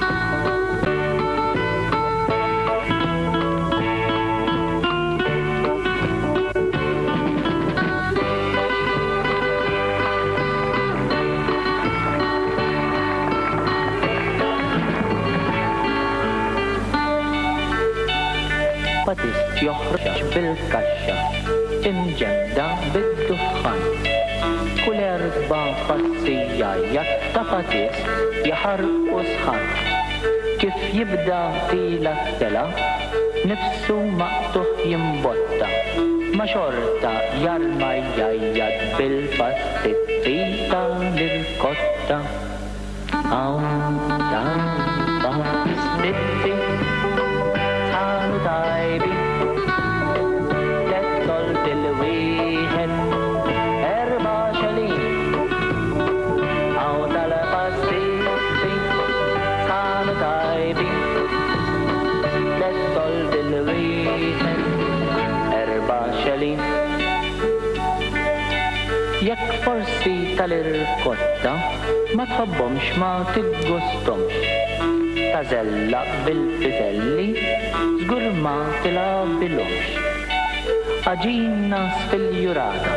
S17: Patist joħroġ bil-kaxxa, imġemda bid-duħħan. Kull erba' passi jgħajjat ta' patist jaħarqu sħan. Kif jibda tila t-tela, nifsu maqtuħ jimbotta. Ma xorta jarma jgħajjat bil-pastizzi tal-irkotta. Hawn tal-pastizzi sħanu tajbi, tliet soldi l-wieħed, erba' xelin. Hawn tal-pastizzi sħanu tajbi, tliet soldi l-wieħed, erba' xelin. Jekk forsi tal-irkotta ma tħobbhomx ma tiggustomx, tażellaq bil-piżelli żgur ma tilgħabilhomx. Għaġina sfiljurata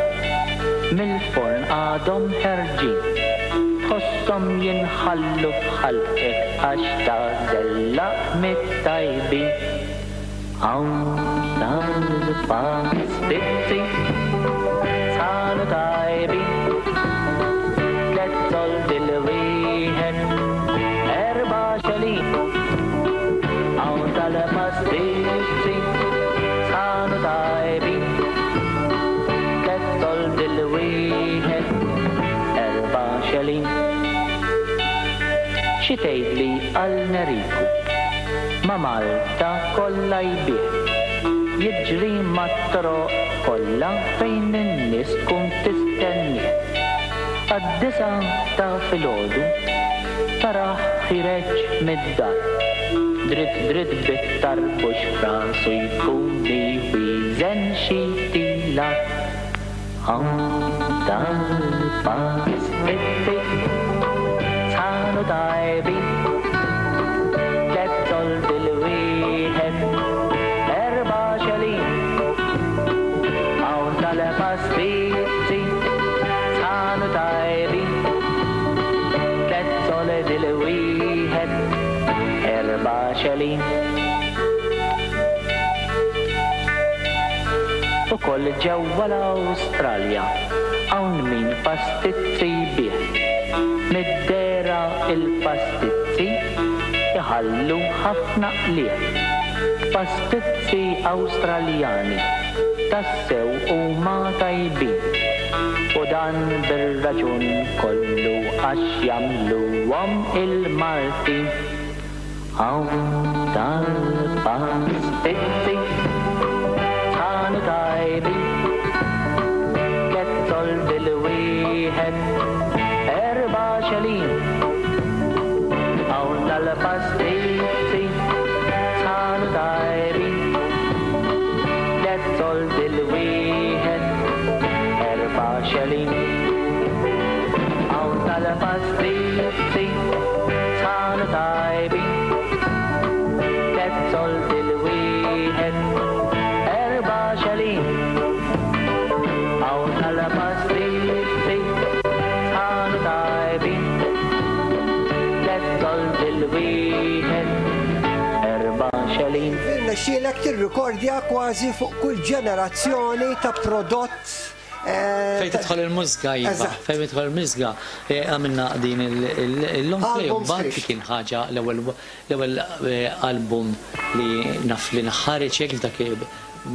S17: mill-forn għadhom ħerġin, tħosshom jinħallu f'ħalqek għax tażellaq mit-tajbin. Hawn tal-pastizzi sħanu tajbin, tliet soldi l-wieħed, erba' xelin. Hawn tal-pastizzi sħanu tajbin, tliet soldi l-wieħed, erba' xelin. Xi tgħidli għal Neriku, ma' Malta kollha jbigħ, jiġri mat-toroq kollha fejn in-nies tkun tistennieh. Għad-disgħa ta' filgħodu taraħ ħireġ mid-dar, dritt dritt bit-tarbux f'rasu jkun iwieżen xi tilar. Hawn tal-pastizzi sħanu tajbin, tliet soldi l-wieħed, erba' xelin. Hawn tal-pastizzi sħanu tajbin, tliet soldi l-wieħed, erba' xelin. Ukoll ġewwa l-Awstralja hawn min pastizzi jbigħ, mid-dehra il-pastizzi iħallu ħafna qligħ. Pastizzi Awstraljani tassew huma tajbin, u dan bir-raġun kollu għax jagħmluhom il-Maltin. Hawn tal-pastizzi sħanu tajbin, tliet soldi l-wieħed, erba' xelin. Hawn tal-pastizzi sħanu tajbin, tliet soldi l-wieħed, erba' xelin. Hawn tal-pastizzi sħanu tajbin, tliet soldi l-wieħed, erba' xelin. Hawn tal-pastizzi sħanu tajbin, tliet soldi l-wieħed, erba' xelin.
S10: Irnexxielek tirrikordja kważi fuq kull ġenerazzjoni ta' prodott eh,
S16: Fejn tidħol il-mużika, iva,
S10: Eżatt.
S16: fejn tidħol il-mużika, eh, għamilna din il-long play,
S10: Album
S16: mbagħad
S10: sħiħ.
S16: kien ħaġa l-ewwel l-ewwel eh, album li naf li nħareġ hekk dak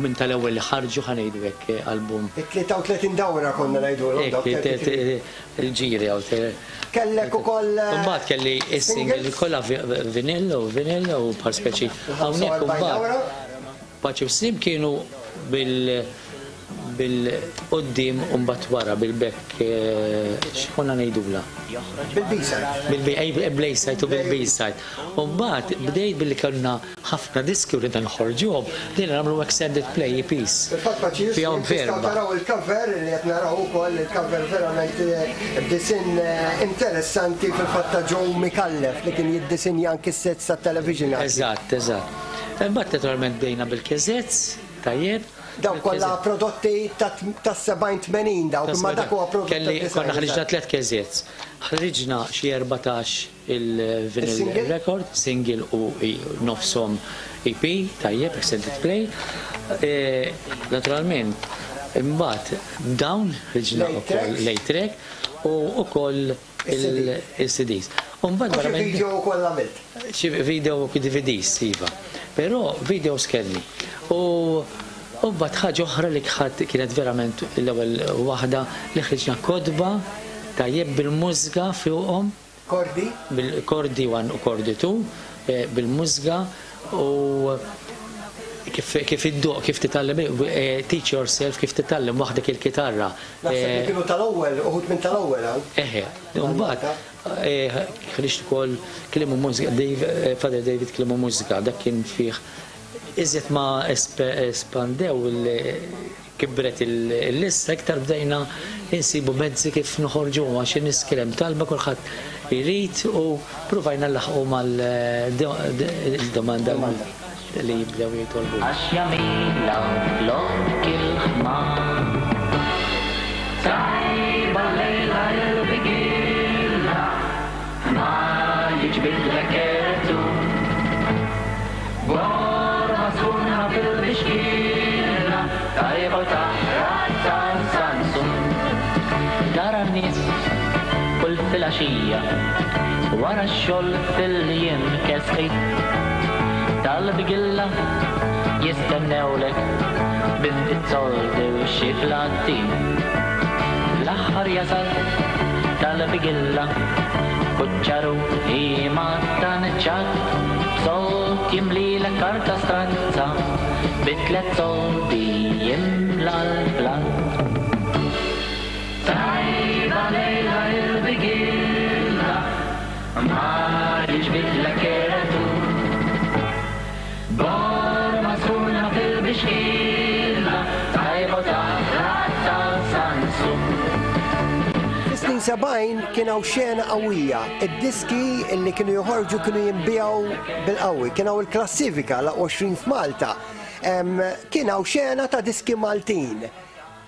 S16: minn tal-ewwel li ħarġu ħa ngħidu hekk eh, album.
S10: it-tlieta u tletin dawra konna ngħidulhom
S16: Hekk,
S10: dawk
S16: te- te- il-ġiri għaw te-
S10: Kellek ukoll eh,
S16: Mbagħad kelli is-single
S10: singles?
S16: kollha vi- vinyl u vinyl u bħal speċi. Hawnhekk
S10: ħamsa u erbgħin
S16: imbagħad
S10: dawra.
S16: Paċi u Slim kienu bil bil-qoddim u mbagħad wara bil-back eh, x'konna ngħidula?
S10: Bil-B-side.
S16: Bil-B-side u bil-B-side. U mbagħad bdejt billi kellna ħafna diski u ridna nħorġuhom, bdejna nagħmlu extended play E Ps.
S10: Fil-fatt paċi
S16: Fihom
S10: tistgħu
S16: verba.
S10: taraw il-cover li qed naraw ukoll il-cover verament b'disinn interessanti fil-fatt ta' Joe Micallef li kien jiddisinja anki s-sets tat-television.
S16: Eżatt, eżatt. Imbagħad naturalment bdejna bil-cassettes, tajjeb.
S10: Dawn kollha prodotti tas-sebgħin tmenin dawk, imma dak huwa prodott
S16: Kelli
S10: tad-design,
S16: konna ħriġna
S10: eżatt.
S16: tliet cassettes. Ħriġna xi erbatax il-vinyl
S10: Il-single?
S16: record, single u i-, nofshom E P, tajjeb, extended play. E, naturalment, imbagħad dawn ħriġna
S10: Late
S16: ukoll
S10: tracks.
S16: late track u ukoll
S10: Il-C D.
S16: il-C Ds. U mbagħad
S10: U xi
S16: verament
S10: video wkoll għamilt?
S16: Xi video u D V Ds, iva. Però videos kelli. U U mbagħad ħaġa oħra li kħad kienet verament l-ewwel waħda li ħriġna kodba tajjeb bil-mużika fuqhom.
S10: Kordi?
S16: Bil-kordi one u kordi two, eh, bil-mużika u kif, kif iddoq, kif titgħallem, eh, teach yourself, kif titgħallem waħdek il-kitarra.
S10: Naħseb li
S16: Eh,
S10: kienu tal-ewwel, uħud minn tal-ewwel hawn.
S16: Eħe, mbagħad, eh, ħriġt ukoll kliem u mużika, Dave, eh, Father David kliem u mużika, dak kien fih iżjed ma espe-, espandew il-, kibret il-, il-lista, iktar bdejna insibu mezzi kif noħorġu għax in-nies kien hemm talba kulħadd irid u provajna nlaħqu mal-domanda li jibdew jitolbu.
S17: Għax jamila lok il-ħmar, tajba lejla il-bigilla, ma jiġbidlek ertu. Borma sħuna fil-bixkilla, tajba taħra tan sansun. Tara n-nies kull filgħaxija, wara x-xogħol fil-jiem kesħi. Tal-bigilla jistennewlek biftit soldi u xi flatti. L-aħħar jasal tal-bigilla, kuċċaru ima tanċat, sold jimlilek karta stranza, bi tliet soldi jimla l-plat. Tajba lejla il-bigilla, ma jiġbidlek ertu. Borma sħuna fil-bixkilla, tajba taħra tal-sansu.
S10: Fis-snin sebgħin kien hawn xena qawwija. Id-diski li kienu joħorġu kienu jinbiegħu bil-qawwi. Kien hawn il-klassifika la għoxrin f'Malta. Em, kien hawn xena ta' diski Maltin.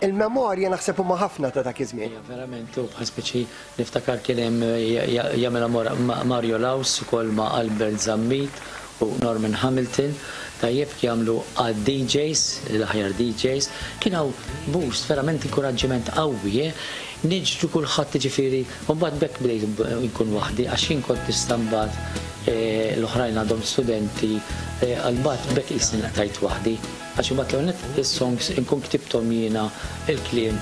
S10: Il-memorja naħseb huma ħafna ta' dak iż-żmien.
S16: Ja, verament, u bħal speċi niftakar kien hemm jagħmilha Mora-, Ma-, Mario Laus ukoll ma' Albert Zammit u Norman Hamilton, tajjeb jagħmlu għad D Js, l-aħjar D Js, kien hawn boost, verament inkoraġġiment qawwi, eh? Niġru kulħadd ġifieri, u mbagħad bekk bdejt nkun waħdi, għax jien kont nista' mbagħad, eh, l-oħrajn għadhom studenti, eh, għal-mbagħad bekk qisni nqtajt waħdi. Għax imbagħad l-ewwel nett is-songs inkun ktibthom jiena il-kliem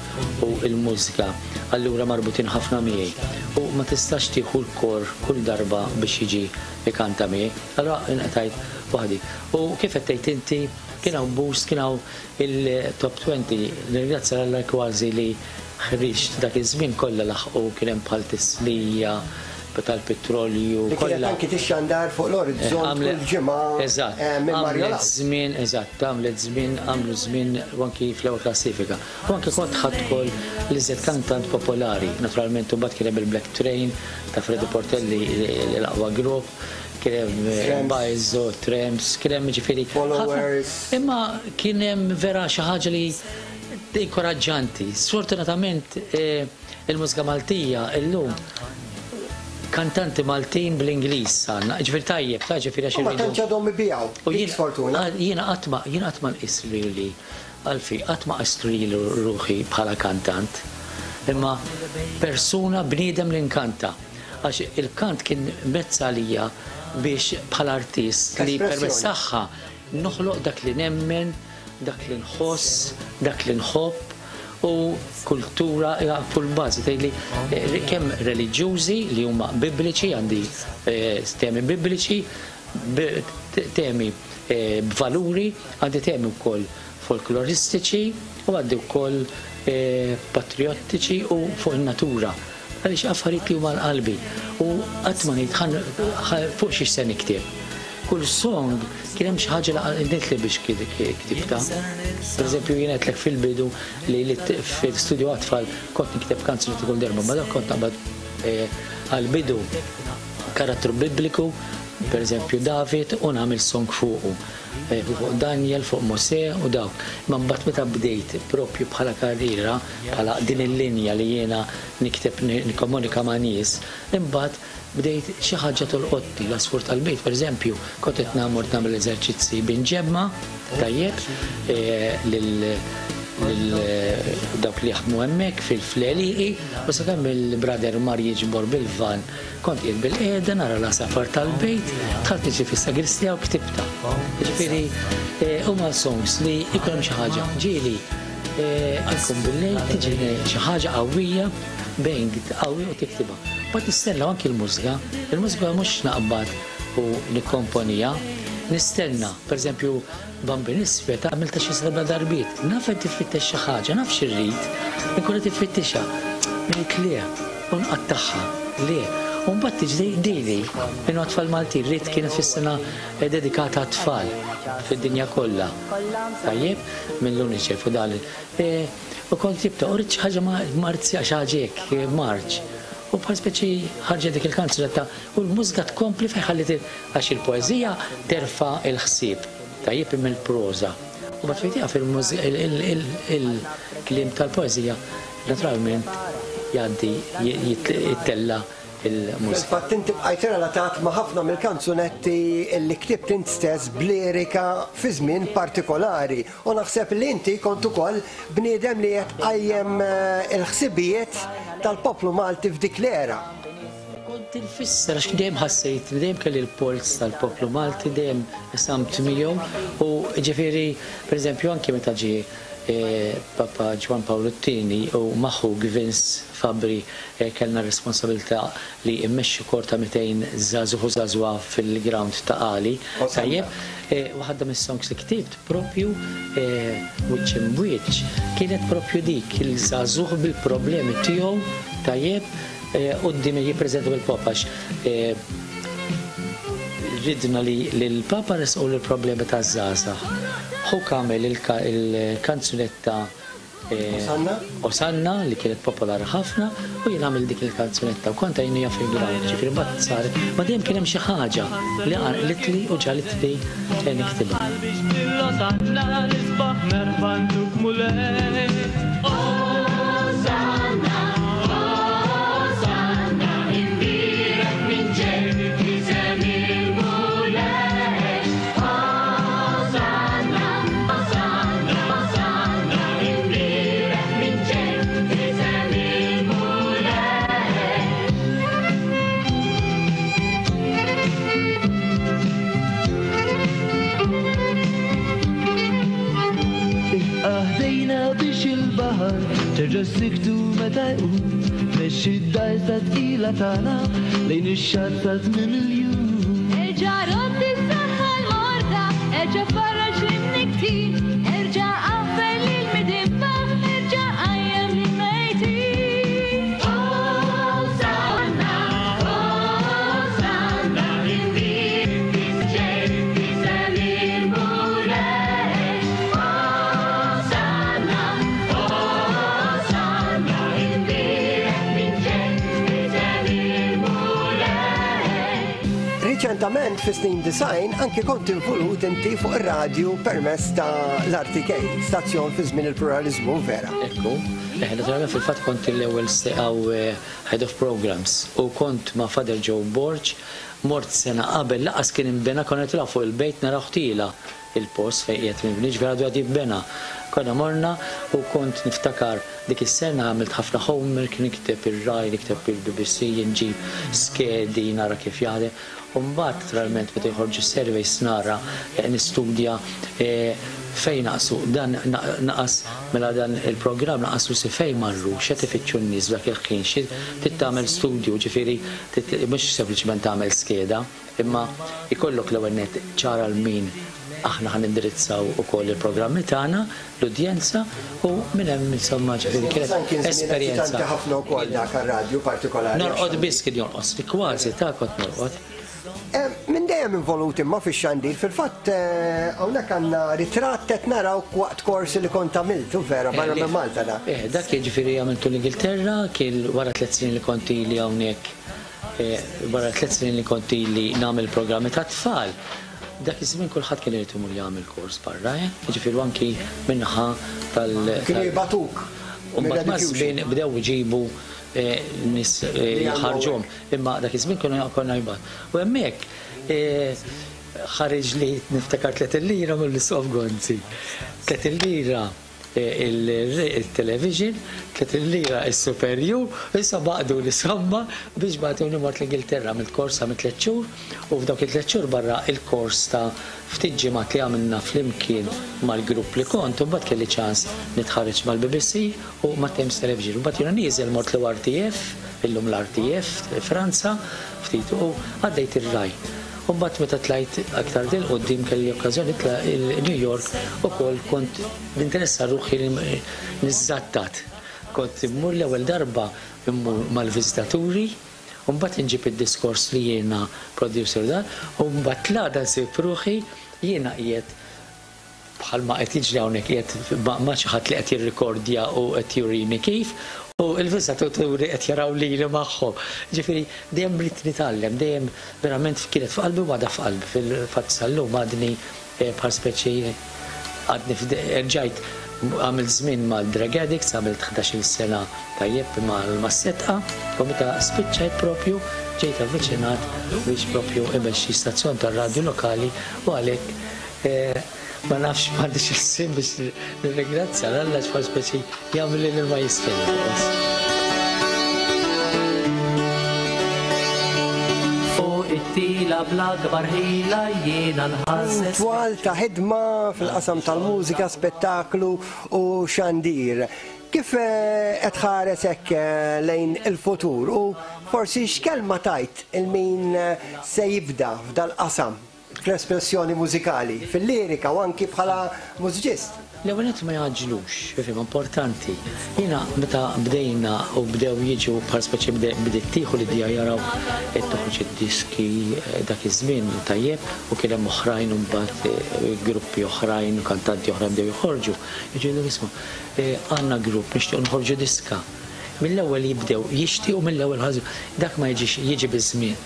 S16: u l-mużika, allura marbutin ħafna miegħi. U ma tistax tieħu l-kor kull darba biex jiġi ikanta miegħi, allura nqtajt waħdi. U kif qed tgħid inti, kien hawn boost, kien hawn il-top twenty, nirringrazzja 'l Alla kważi li ħriġt dak iż-żmien kollha laħqu, kien hemm bħal tislija tal-petrolju,
S10: Li kienet
S16: kollha.
S10: anki tixxandar fuq l-orizzont
S16: Eh, għamlet
S10: kull ġimgħa,
S16: Eżatt,
S10: eh, minn Mario
S16: għamlet
S10: Laus.
S16: żmien, eżatt, għamlet żmien, għamlu żmien u anki fl-ewwel klassifika. U anki kont ħadd ukoll l-iżjed kantant popolari, naturalment u mbagħad kien hemm il-Black Train ta' Freddy Portelli l-aqwa grupp, kien hemm, eh,
S10: Tramps.
S16: Bajzo, Tramps, kien hemm ġifieri ħafna.
S10: Followers.
S16: Imma kien hemm vera xi ħaġa li inkoraġġanti. Sfortunatament, eh, il-mużika Maltija illum kantanti Maltin bl-Ingliż għandna, ġifieri tajjeb, ta' ġifieri għax
S10: U ma
S16: irridu.
S10: tantx għadhom ibiegħu,
S16: U
S10: dik
S16: jien-
S10: sfortuna.
S16: għal-, jiena qatt ma, jiena qatt ma nqis lili, għalfi, qatt ma qist lili ruħi bħala kantant, imma persuna bniedem li nkanta. Għax il-kant kien mezz għalija biex bħala artist li
S10: Espressjoni.
S16: permezz tagħha noħloq dak li nemmen, dak li nħoss, dak li nħobb, u kultura hija fuq il-bażi tgħidli, eh, kemm reliġjużi li huma bibliċi, għandi, eh, temi bibliċi, b-, te-, temi, eh, b'valuri, għandi temi wkoll folkloristiċi u għandi wkoll, eh, patriottiċi u fuq in-natura. Għaliex affarijiet li huma l-qalbi u qatt ma ngħid ħan-, ħa-, fuq xi se nikteb. Kull song kien hemm xi ħaġa li li biex ktibta. Per eżempju, jien għedtlek fil-bidu li fil-studio għat-tfal kont nikteb kanzunetti kull darba, ma dak kont naqbad għal-bidu karattru bibliku, per eżempju David, u nagħmel song fuqu. Fuq Daniel, fuq Mosè u dawk. Ma mbagħad meta bdejt propju bħala karriera, bħala din il-linja li jiena nikteb nikkomunika ma' nies, imbagħad bdejt xi ħaġa tolqotni, l-għasfur tal-bejt, per eżempju, kont qed nagħmel nagħmel eżerċizzi binġemma, tajjeb, lil dawk li jaħdmu hemmhekk fil-fleliqi, u sakemm il-brother mar jiġbor bil-van, kont qiegħed bil-qiegħda nara l-għasafar tal-bejt, dħalt niġi fis-sagristija u ktibta. Ġifieri huma songs li jkun hemm xi ħaġa. Ġieli nkun bil-lejl tiġi xi ħaġa qawwija, bang qawwi u tiktibha. Mbagħad nistenna anki l-mużika, il-mużika mhux naqbad u nikkomponija, nistenna, per eżempju, Bambin Iswed għamilta xi seba' darbiet, naf qed tifittex xi ħaġa, naf xi rrid, inkun qed tiffittixha. Ngħid le, u nqattagħha, le. U mbagħad tiġi dili, minn tfal Maltin, rrid kienet fis-sena dedikata għat-tfal fid-dinja kollha. Tajjeb, mill-UNICEF u dal. U kont jibta, u rrid xi ħaġa marzja xi ħaġa hekk, marċ. U bħal speċi ħarġet dik il-kanzunetta u l-mużika tkompli fejn ħallit għax il-poeżija terfa' il-ħsieb. Tajjeb imma l-proża. U mbagħad fejn tieqaf il-kliem tal-poeżija naturalment jgħaddi jittella il-mużika.
S10: Fil-fatt inti bqajt relatat ma' ħafna mill-kanzunetti li ktibt int stess b'lirika fi żmien partikolari. U naħseb li inti kont ukoll bniedem li qed tqajjem il-ħsibijiet tal-poplu Malti f'dik l-era.
S16: Kont infisser għax dejjem ħassejt, dejjem kelli l-polz tal-poplu Malti, dejjem samt miegħu u ġifieri, pereżempju, anke meta ġie Papa Ġwan Pawlu t-tieni u magħhu Vince Fabri kellna responsabilità li mmexxu kor ta' mitejn żagħżugħ u żagħżugħa fil-ground ta' Qali. Tajjeb, waħda mis-songs li ktibt propju wiċċ imwiċċ kienet propju dik il-żagħżugħ bil-problemi tiegħu, tajjeb, quddiem jippreżenta bil-Papa għax ridna li l-Papa resqu l-problemi taż-żgħażagħ. Hu kamel il-kanzunetta Osanna li kienet popolari ħafna u jien għamil dik il-kanzunetta u kont għajnija fil-ground, ġifieri mbagħad sar, ma dejjem kien hemm xi ħaġa li qanqlitli u ġalitli niktibha.
S2: Terġa' siktu meta jqum, mexxi d-dajsa tqila tagħna lejn ix-xatt ta' tmiem il-jum.
S18: Erġa' rodd is-saħħa l-morda, erġa' farraġ lin-niktin, erġa' qafel lil-midinba, erġa' qajjem lil-mejtin. Osanna, Osanna,
S10: Riċentament fi snin design anki kont involut inti fuq ir-radju permezz ta' l-R T K, stazzjon fi żmien il-pluralizmu vera.
S16: Ekku, naturalment fil-fatt kont l-ewwel għaw head of programs u kont ma' Father Joe Borg, mort sena qabel laqas kien imbena konna nitilgħu fuq il-bejt naraw ħtila il-post fejn qiegħed mibni, ġifieri għadu għad jibbena. Konna morna u kont niftakar dik is-sena għamilt ħafna homework, nikteb ir-Rai, nikteb il-B B C, nġib skedi, nara kif jaħdem. U mbagħad naturalment meta jħorġu surveys nara nistudja fejn naqsu dan naqas mela dan il-programm naqasu si fejn marru, x'qed ifittxu n-nies f'dak il-ħin, xi trid tagħmel studju, ġifieri mhux sempliċement tagħmel skeda, imma ikollok l-ewwel nett ċara l min aħna ħan indirizzaw ukoll il-programmi tagħna, l-udjenza u minn hemm insomma ġifieri kienet esperjenza.
S10: Ħafna wkoll dak ar-radju partikolari.
S16: Norqod biss kien jonqos, kważi ta' kont norqod.
S10: Minn dejjem Dejjem involut imma fix-xandir, fil-fatt hawnhekk għandna ritratt qed naraw waqt korsi li kont għamiltu vera barra minn Malta da.
S16: Eh, dak jiġifieri għamiltu l-Ingilterra, kien wara tliet snin li kont ili hawnhekk, wara tliet snin li kont ili nagħmel programmi ta' tfal. Dak iż-żmien kulħadd kien irid imur jagħmel kors barra, jiġifieri anki minnaħa tal.
S10: Kienu jibatuk.
S16: U mbagħad maż-żmien bdew iġibu nies jħarġuhom, imma dak iż-żmien konna jibgħat. U hemmhekk ħareġ li niftakar tliet il-lira mill-Isqof Gonzi. Tliet il-lira il-television, tliet il-lira il-superjur, issa baqdu l-isomma biex bagħtuni mort l-Ingilterra mill-kors għamil tliet xhur, u f'dawk it-tliet xhur barra il-kors ta' ftit ġimgħat li għamilna flimkien mal-grupp li kont, u mbagħad kelli ċans nitħarreġ mal-B B C u ma' Thames Television. U mbagħad jiena nieżel mort l-R T F, illum l-R T F Franza, ftit u għaddejt ir-Rai. U mbagħad meta tlajt aktar dil quddiem kelli okkażjoni nitla' il-New York ukoll kont ninteressa ruħi niżżattat. Kont immur l-ewwel darba immur mal-viżitaturi, u mbagħad inġib id-diskors li jiena producer dan, u mbagħad l-għada nsib ruħi jiena qiegħed bħalma qed jiġri hawnhekk qiegħed ma' xi ħadd li qed jirrikordja u qed jurini kif, u l-viżitaturi qed jaraw lili magħhom. Ġifieri dejjem rrid nitgħallem, dejjem verament kienet f'qalbi u għadha f'qalbi. Fil-fatt sal-lum għadni bħal speċi għadni rġajt għamilt żmien mal-drug addicts, għamilt ħdax-il sena tajjeb mal-setqa, u meta spiċċajt propju ġejt avviċinat biex propju imexxi stazzjon tar-radju lokali, u għalhekk ma nafx m'għandix il-sim biex nirringrazzja l-Alla bħal speċi jagħmel li ma jisfel.
S17: Fuq it-tila bl-akbar ħila jiena nħasses.
S10: Twal ta' ħidma fil-qasam tal-mużika, spettaklu u xandir. Kif qed ħares hekk lejn il-futur u forsi x'kelma tajt il-min se jibda f'dal-qasam fl-espressjoni mużikali, fil-lirika u anki bħala mużiċist?
S16: L-ewwel nett ma jgħaġġlux, ifhem importanti. Jiena meta bdejna u bdew jiġu bħal speċi bdiet tieħu l-idea jaraw qed toħroġ id-diski dak iż-żmien tajjeb, u kien hemm oħrajn u mbagħad gruppi oħrajn u kantanti oħrajn bdew joħorġu. Jiġu jgħidu isma' għandna grupp nixtiequ nħorġu diska. Mill-ewwel jibdew jixtiequ mill-ewwel ħażu. Dak ma jiġix, jiġi biż-żmien.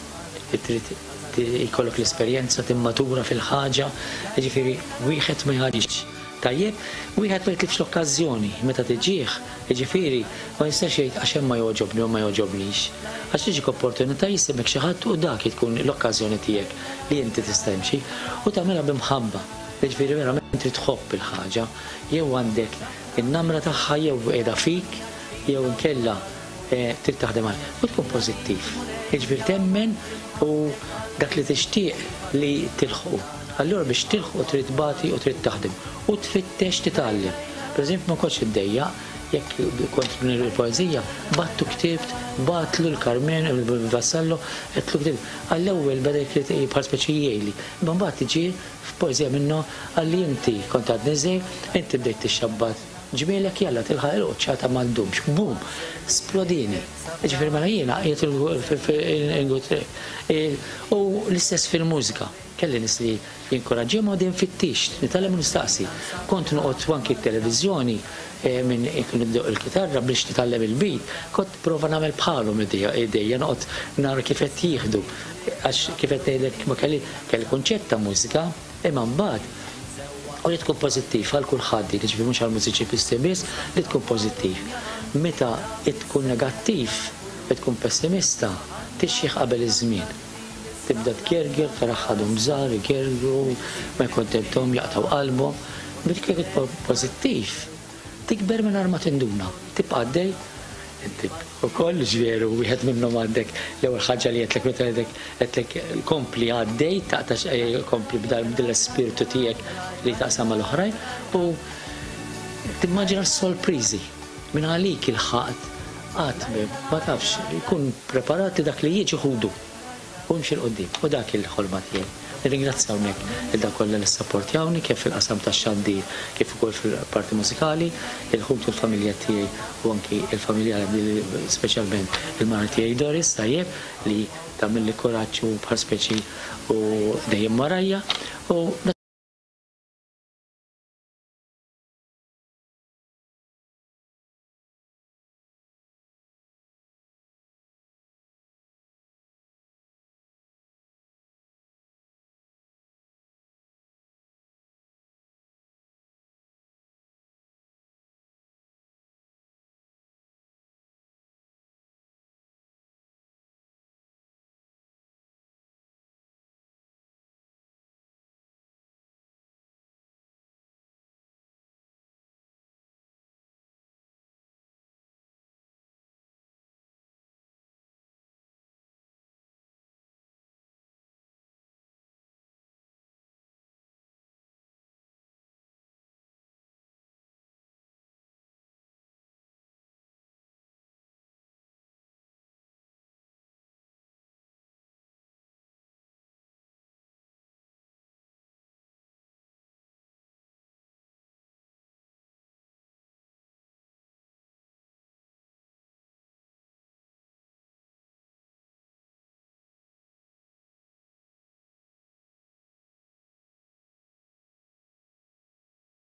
S16: Trid jkollok l-esperjenza timmatura fil-ħaġa, jiġifieri wieħed ma jħaġix. Tajjeb, wieħed ma jitlifx l-okkażjoni meta tiġih, jiġifieri ma jistax jgħid għax hemm ma jogħġobni u ma jogħġobnix. Għax tiġik opportunità jisimek xi ħadd u dak tkun l-okkażjoni tiegħek li inti tista' timxi u tagħmilha b'imħabba. Jiġifieri verament trid tħobb il-ħaġa, jew għandek in-namra tagħha jew qiegħda fik, jew inkella trid taħdem għal. U tkun pożittiv. Jiġifieri temmen u dak li tixtieq li tilħqu. Allura biex tilħqu trid tbati u trid taħdem u tfittex titgħallem. Pereżempju ma kontx iddejjaq jekk kont il-poeżija, battu ktibt, batlu l-Carmen, il-Vassallo, qedtlu ktibt. Għall-ewwel beda jkrit bħal speċi jgħidli. Imma mbagħad tiġi f'poeżija minnu għalli inti kont għadni żgħir, inti bdejt tixxabbat ġmielek jalla tilħaq il-qoċċata ma ddumx, bum, splodini. Ġifieri mela jiena qiegħed u l-istess fil-mużika. Kelli nies li jinkoraġġihom u dejjem fittix, nitgħallem u nistaqsi. Kont noqgħod anki t-televiżjoni minn ikun iddoq il-kitarra biex nitgħallem il-beat, kont prova nagħmel bħalhom idejja, noqgħod nara kif qed jieħdu. Għax kif qed ngħidlek ma kelli kelli kunċett ta' mużika, imma mbagħad u li tkun pożittiv għal kulħadd, jiġifieri mhux għal mużiċisti biss, li tkun pożittiv. Meta tkun negattiv, tkun pessimista, tixjih qabel iż-żmien. Tibda tgerger, taraħħadhom żgħar, igergru, ma jkontenthom, jaqtgħu qalbhom. Dik kif tkun pożittiv, tikber mingħajr ma tinduna, tibqa' għaddej, inti ukoll ġveru wieħed minnhom għandek l-ewwel ħaġa li qedlek meta għedek qedlek kompli għaddej, taqtax kompli b'dal-ispirtu tiegħek li taqsam mal-oħrajn u timmaġina s-sorpriżi minn għalik il-ħaqt qatt ma tafx jkun preparat li dak li jiġi ħudu u mxi 'l quddiem u dak il-ħolma tiegħi. Nirringrazzja hawnhekk lil dak kollha li ssapportjawni kemm fil-qasam tax-xandir kif ukoll fil-parti mużikali, il-ħut u l-familja tiegħi u anki il-familja speċjalment il-mara tiegħi Doris tajjeb li tagħmilli kuraġġ u bħal speċi u dejjem warajja u